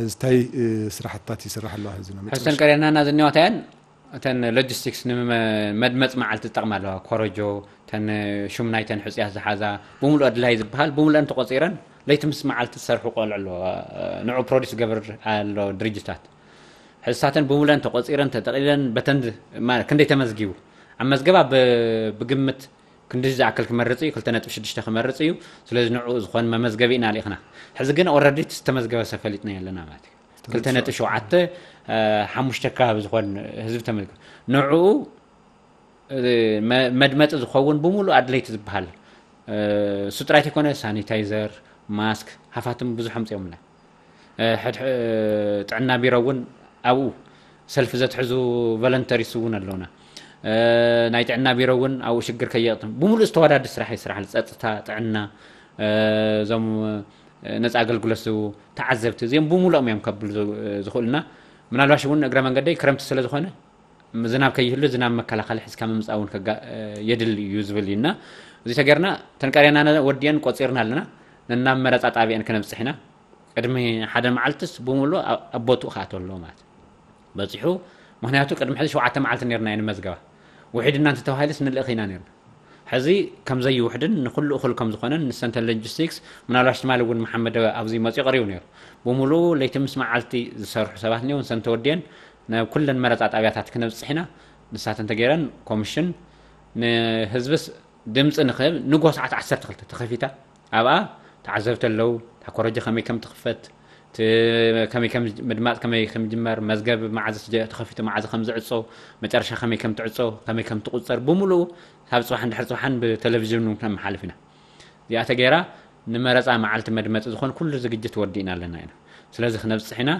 እንታይ ስራሕትታት ይስራሕ ኣለዋ? ሕዚ ነው ሕሰን ቀሪናና ዝኒዋታያን እተን ሎጂስቲክስ ንመድመፅ መዓልቲ ዝጠቕማ ኣለዋ። ኮረጆ፣ ተን ሹም ናይተን ሕፅያት ዝሓዛ ብምሉእ ኣድላይ ዝበሃል ብምሉእን ተቆፂረን ለይቲ ምስ መዓልቲ ዝሰርሑ ቆልዑ ኣለዎ። ንዑ ፕሮዲስ ገብር ኣሎ ድርጅታት ሕዝሳተን ብምሉእን ተቆፂረን ተጠቂለን በተን ክንደይ ተመዝጊቡ ኣብ መዝገባ ብግምት ክንዲ ዝኣክል ክመርፅ እዩ ክልተ ነጥቢ ሽዱሽተ ክመርፅ እዩ። ስለዚ ንዑ ዝኾን መመዝገቢ ኢና ልኢኽና። ሕዚ ግን ኦረዲ ዝተመዝገበ ሰብ ፈሊጥና ኣለና ማለት እዩ። ክልተ ነጥቢ ሸውዓተ ሓሙሽተ ከባቢ ዝኾን ህዝቢ ተመልከ ንዕኡ መድመፂ ዝኸውን ብምሉእ ኣድለይቲ ዝበሃል እሱ ጥራይ ተይኮነ ሳኒታይዘር፣ ማስክ፣ ሃፋትም ብዙሕ ኣምፅኦምና። ጥዕና ቢሮ እውን ኣብኡ ሰልፊ ዘትሕዙ ቨለንተሪስ እውን ኣለውና። ናይ ጥዕና ቢሮ እውን ኣብኡ ሽግር ከየቕጥም ብምሉእ ዝተወዳዲ ስራሕ ይስራሕ። ፀፅታ፣ ጥዕና፣ እዞም ነፃ ኣገልግሎት ዝህቡ ተዓዘብቲ እዚኦም ብምሉኦም እዮም ከብሉ ዝኽእሉና። ምናልባሽ እውን እግረ መንገደይ ክረምቲ ስለ ዝኾነ ዝናብ ከይህሉ ዝናብ መከላኸሊ ሒዝካ ምምፃእ እውን የድሊ እዩ ዝብል እዩ እና እዚ ተገርና ተንቀርያና ወዲአን ቆፂርና ኣለና። ነናብ መረፃ ጣቢአን ክነብፅሕ ኢና። ቅድሚ ሓደ መዓልትስ ብምሉእ ኣብ ቦትኡ ክኣተው ኣለዎ ማለት በፂሑ። ምክንያቱ ቅድሚ ሕዚ ሸውዓተ መዓልቲ ነርና እየ ንመዝገባ ውሒድና እንተተባሂልስ ንልእኽ ኢና ነርና። ሕዚ ከምዘይውሕድን ንኩሉ እኹል ከም ዝኾነን ንሰንተን ሎጂስቲክስ ምናልባሽ ትማሊ እውን መሓመድ ኣብዚ መፅኡ ቀሪቡ ነይሩ። ብምሉኡ ለይቲ ምስ መዓልቲ ዝሰርሑ ሰባት እኒው ንሰን ተወዲየን ናብ ኩለን መረፃ ጣብያታት ክነብፅሕ ኢና። ንሳተን ተገይረን ኮሚሽን ንህዝብስ ድምፂ ንክህብ ንጎ ሰዓት ዓሰርተ ክልተ ተኸፊታ ኣብኣ ተዓዘብቲ ኣለዉ። እታ ኮረጆ ከመይ ከም ትኽፈት እቲ ከመይ ከም ምድማፅ ከመይ ከም ጅመር፣ መዝገብ መዓዝ ተኸፊቱ መዓዝ ከም ዝዕፆ፣ መጨረሻ ከመይ ከም ትዕፆ፣ ከመይ ከም ትቁፀር ብምሉኡ ካብ ፅባሕ እንድሕር ፅባሕን ብቴሌቪዥን እውን ከመሓልፍ ኢና። እዚኣ ተገይራ ንመረፃ መዓልቲ መድመፂ ዝኾን ኩሉ ዝግጅት ወዲእና ኣለና ኢና። ስለዚ ክነብፅሕ ኢና።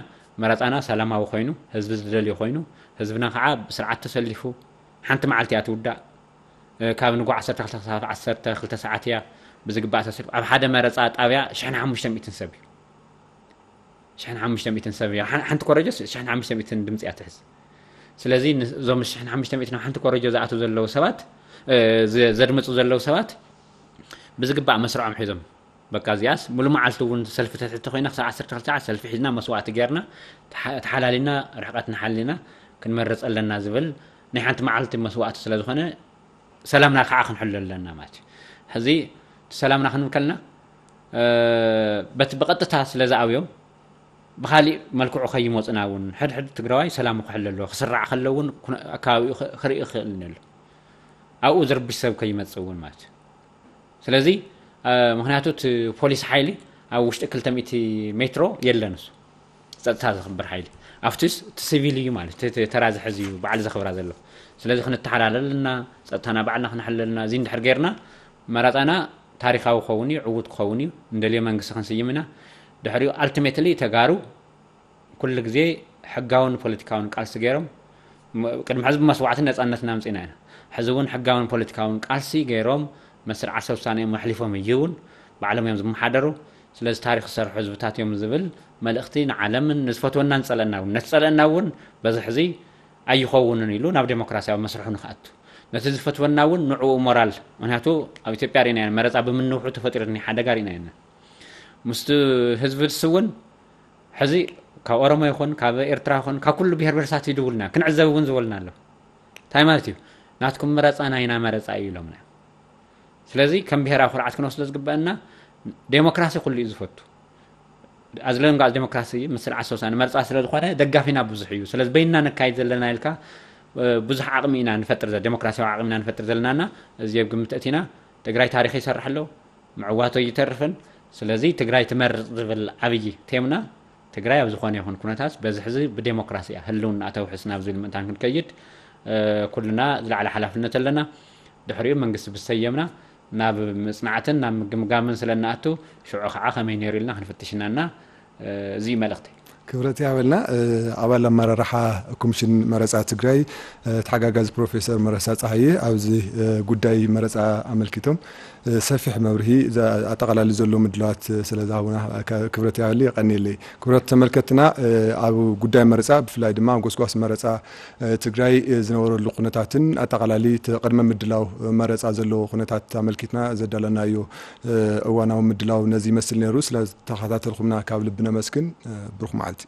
መረፃና ሰላማዊ ኮይኑ፣ ህዝቢ ዝደልዮ ኮይኑ፣ ህዝብና ከዓ ብስርዓት ተሰሊፉ፣ ሓንቲ መዓልቲ እያ ትውዳእ። ካብ ንጉዕ ዓሰርተ ክልተ ክሳብ ዓሰርተ ክልተ ሰዓት እያ ብዝግባእ ተሰሊፉ። ኣብ ሓደ መረፃ ጣብያ ሽሕን ሓሙሽተ ሚእትን ሰብ እዩ። ሽሕን ሓሙሽተ ሚእትን ሰብ እያ። ሓንቲ ኮረጆ ሽሕን ሓሙሽተ ሚእትን ድምፂ እያ ትሕዝ። ስለዚ እዞም ሽሕን ሓሙሽተ ሚእትን ኣብ ሓንቲ ኮረጆ ዝኣትዉ ዘለዉ ሰባት፣ ዘድምፁ ዘለዉ ሰባት ብዝግባእ መስርዖም ሒዞም፣ በቃ እዚኣስ ሙሉ መዓልቲ እውን ሰልፊ ተትሕቲ ኮይና ክሳብ ዓሰርተ ክልተ ሰዓት ሰልፊ ሒዝና መስዋእቲ ጌርና ተሓላሊና ርሕቀት ንሓሊና ክንመርፅ ኣለና ዝብል ናይ ሓንቲ መዓልቲ መስዋእቲ ስለዝኾነ ሰላምና ከዓ ክንሕሎ ኣለና ማለት እዩ። ሕዚ እቲ ሰላምና ክንብል ከለና በቲ ብቐጥታ ስለ ዝኣብዮም ብካሊእ መልክዑ ከይመፁና እውን ሕድሕድ ትግራዋይ ሰላሙ ክሕሎ ኣለዎ። ክስራዕ ከሎ እውን ኣከባቢኡ ክርኢ ክኽእል ኣሎ። ኣብኡ ዝርብሽ ሰብ ከይመፅእ እውን ማለት እዩ። ስለዚ ምክንያቱ እቲ ፖሊስ ሓይሊ ኣብ ውሽጢ ክልተ ሚእቲ ሜትሮ የለን። እሱ ጸጥታ ዘኽብር ሓይሊ ኣብቲስ እቲ ሲቪል እዩ ማለት እቲ ተራ ዝሕዝ እዩ ባዕሉ ዘኽብራ ዘሎ። ስለዚ ክንተሓላለል ኣለና፣ ጸጥታና ባዕልና ክነሕልል ኣለና። እዚ እንድሕር ጌርና መረጻና ታሪኻዊ ክኸውን እዩ፣ ዕዉት ክኸውን እዩ። እንደልዮ መንግስቲ ክንስይም ኢና። ድሕሪኡ ኣልቲሜትሊ ተጋሩ ኩሉ ግዜ ሕጋውን ፖለቲካውን ቃልሲ ገይሮም ቅድሚ ሕዚ ብመስዋዕቲ ነጻነትና ኣምጺእና ኢና። ሕዚ እውን ሕጋውን ፖለቲካውን ቃልሲ ገይሮም መስርዕ ዓርሰ ውሳኔኦም ኣሕሊፎም እዩ እውን ባዕሎም እዮም ዝመሓደሩ። ስለዚ ታሪኽ ዝሰርሑ ህዝብታት እዮም ዝብል መልእኽቲ ንዓለምን ንዝፈትወና ንጸለና እውን ነቲ ጸለና እውን በዚ ሕዚ ኣይኸውንን ኢሉ ናብ ዴሞክራሲያዊ መስርሑ ንክኣቱ ነቲ ዝፈትወና እውን ንዕኡ ሞራል ምክንያቱ ኣብ ኢትዮጵያ ርኢና መረፃ ብምንውሑ ተፈጢሩ ሓደጋ ርኢና ኢና። ምስቲ ህዝቢ ድስ እውን ሕዚ ካብ ኦሮሞ ይኹን ካብ ኤርትራ ይኹን ካብ ኩሉ ብሄር ብሄረሰባት ይድውልና ክንዕዘብ እውን ዝበልና ኣሎ። እንታይ ማለት እዩ? ናትኩም መረፃ ናይና መረፃ እዩ ኢሎምና። ስለዚ ከም ብሄራዊ ኩርዓት ክንወስዶ ዝግበአና ዴሞክራሲ ኩሉ እዩ ዝፈቱ። ኣዝለንጋ ዴሞክራሲ ምስ ስርዓት ሰውሳ ንመርፃ ስለ ዝኾነ ደጋፊና ብዙሕ እዩ። ስለዚ በይንና ነካይድ ዘለና ኢልካ ብዙሕ ዓቕሚ ኢና ንፈጥር ዴሞክራሲያዊ ዓቕሚ ኢና ንፈጥር ዘለናና እዚ ኣብ ግምት እቲና ትግራይ ታሪክ ይሰርሕ ኣሎ። ምዕዋቶ ይተርፍን ስለዚ ትግራይ ትመርፅ ዝብል ዓብዪ ቴምና ትግራይ ኣብ ዝኾነ ይኹን ኩነታት በዚ ሕዚ ብዴሞክራሲ እያ ህልውና ተውሕስ ናብ ዝብል ምእንታን ክንከይድ ኩልና ዝለዓለ ሓላፍነት ኣለና። ድሕሪኡ መንግስቲ ብዝሰየምና ናብ ምፅናዕትን ናብ ምግምጋምን ስለ እንኣቱ ሽዑ ከዓ ከመይ ነይሩ ኢልና ክንፍትሽ ኢና እና እዚ እዩ መልእኽተይ። ክብረት ያበልና ኣባል ኣመራርሓ ኮሚሽን መረፃ ትግራይ ተሓጋጋዚ ፕሮፌሰር መረሳ ፀሃየ ኣብዚ ጉዳይ መረፃ ኣመልኪቶም ሰፊሕ መብርሂ ኣጠቓላሊ ዘሎ ምድላዋት ስለ ዝሃቡና ክብረት ያበሊ የቐንየለይ። ክብረት ተመልከትና ኣብ ጉዳይ መረፃ ብፍላይ ድማ ኣብ ጎስጓስ መረፃ ትግራይ ዝነበረሉ ኩነታትን ኣጠቓላሊ ቅድመ ምድላው መረፃ ዘለዎ ኩነታት ኣመልኪትና ዘዳለናዮ እዋናዊ ምድላው ነዚ ይመስል ነይሩ። ስለ ተኸታተልኩምና ካብ ልቢ ነመስግን። ብሩኽ መዓልቲ።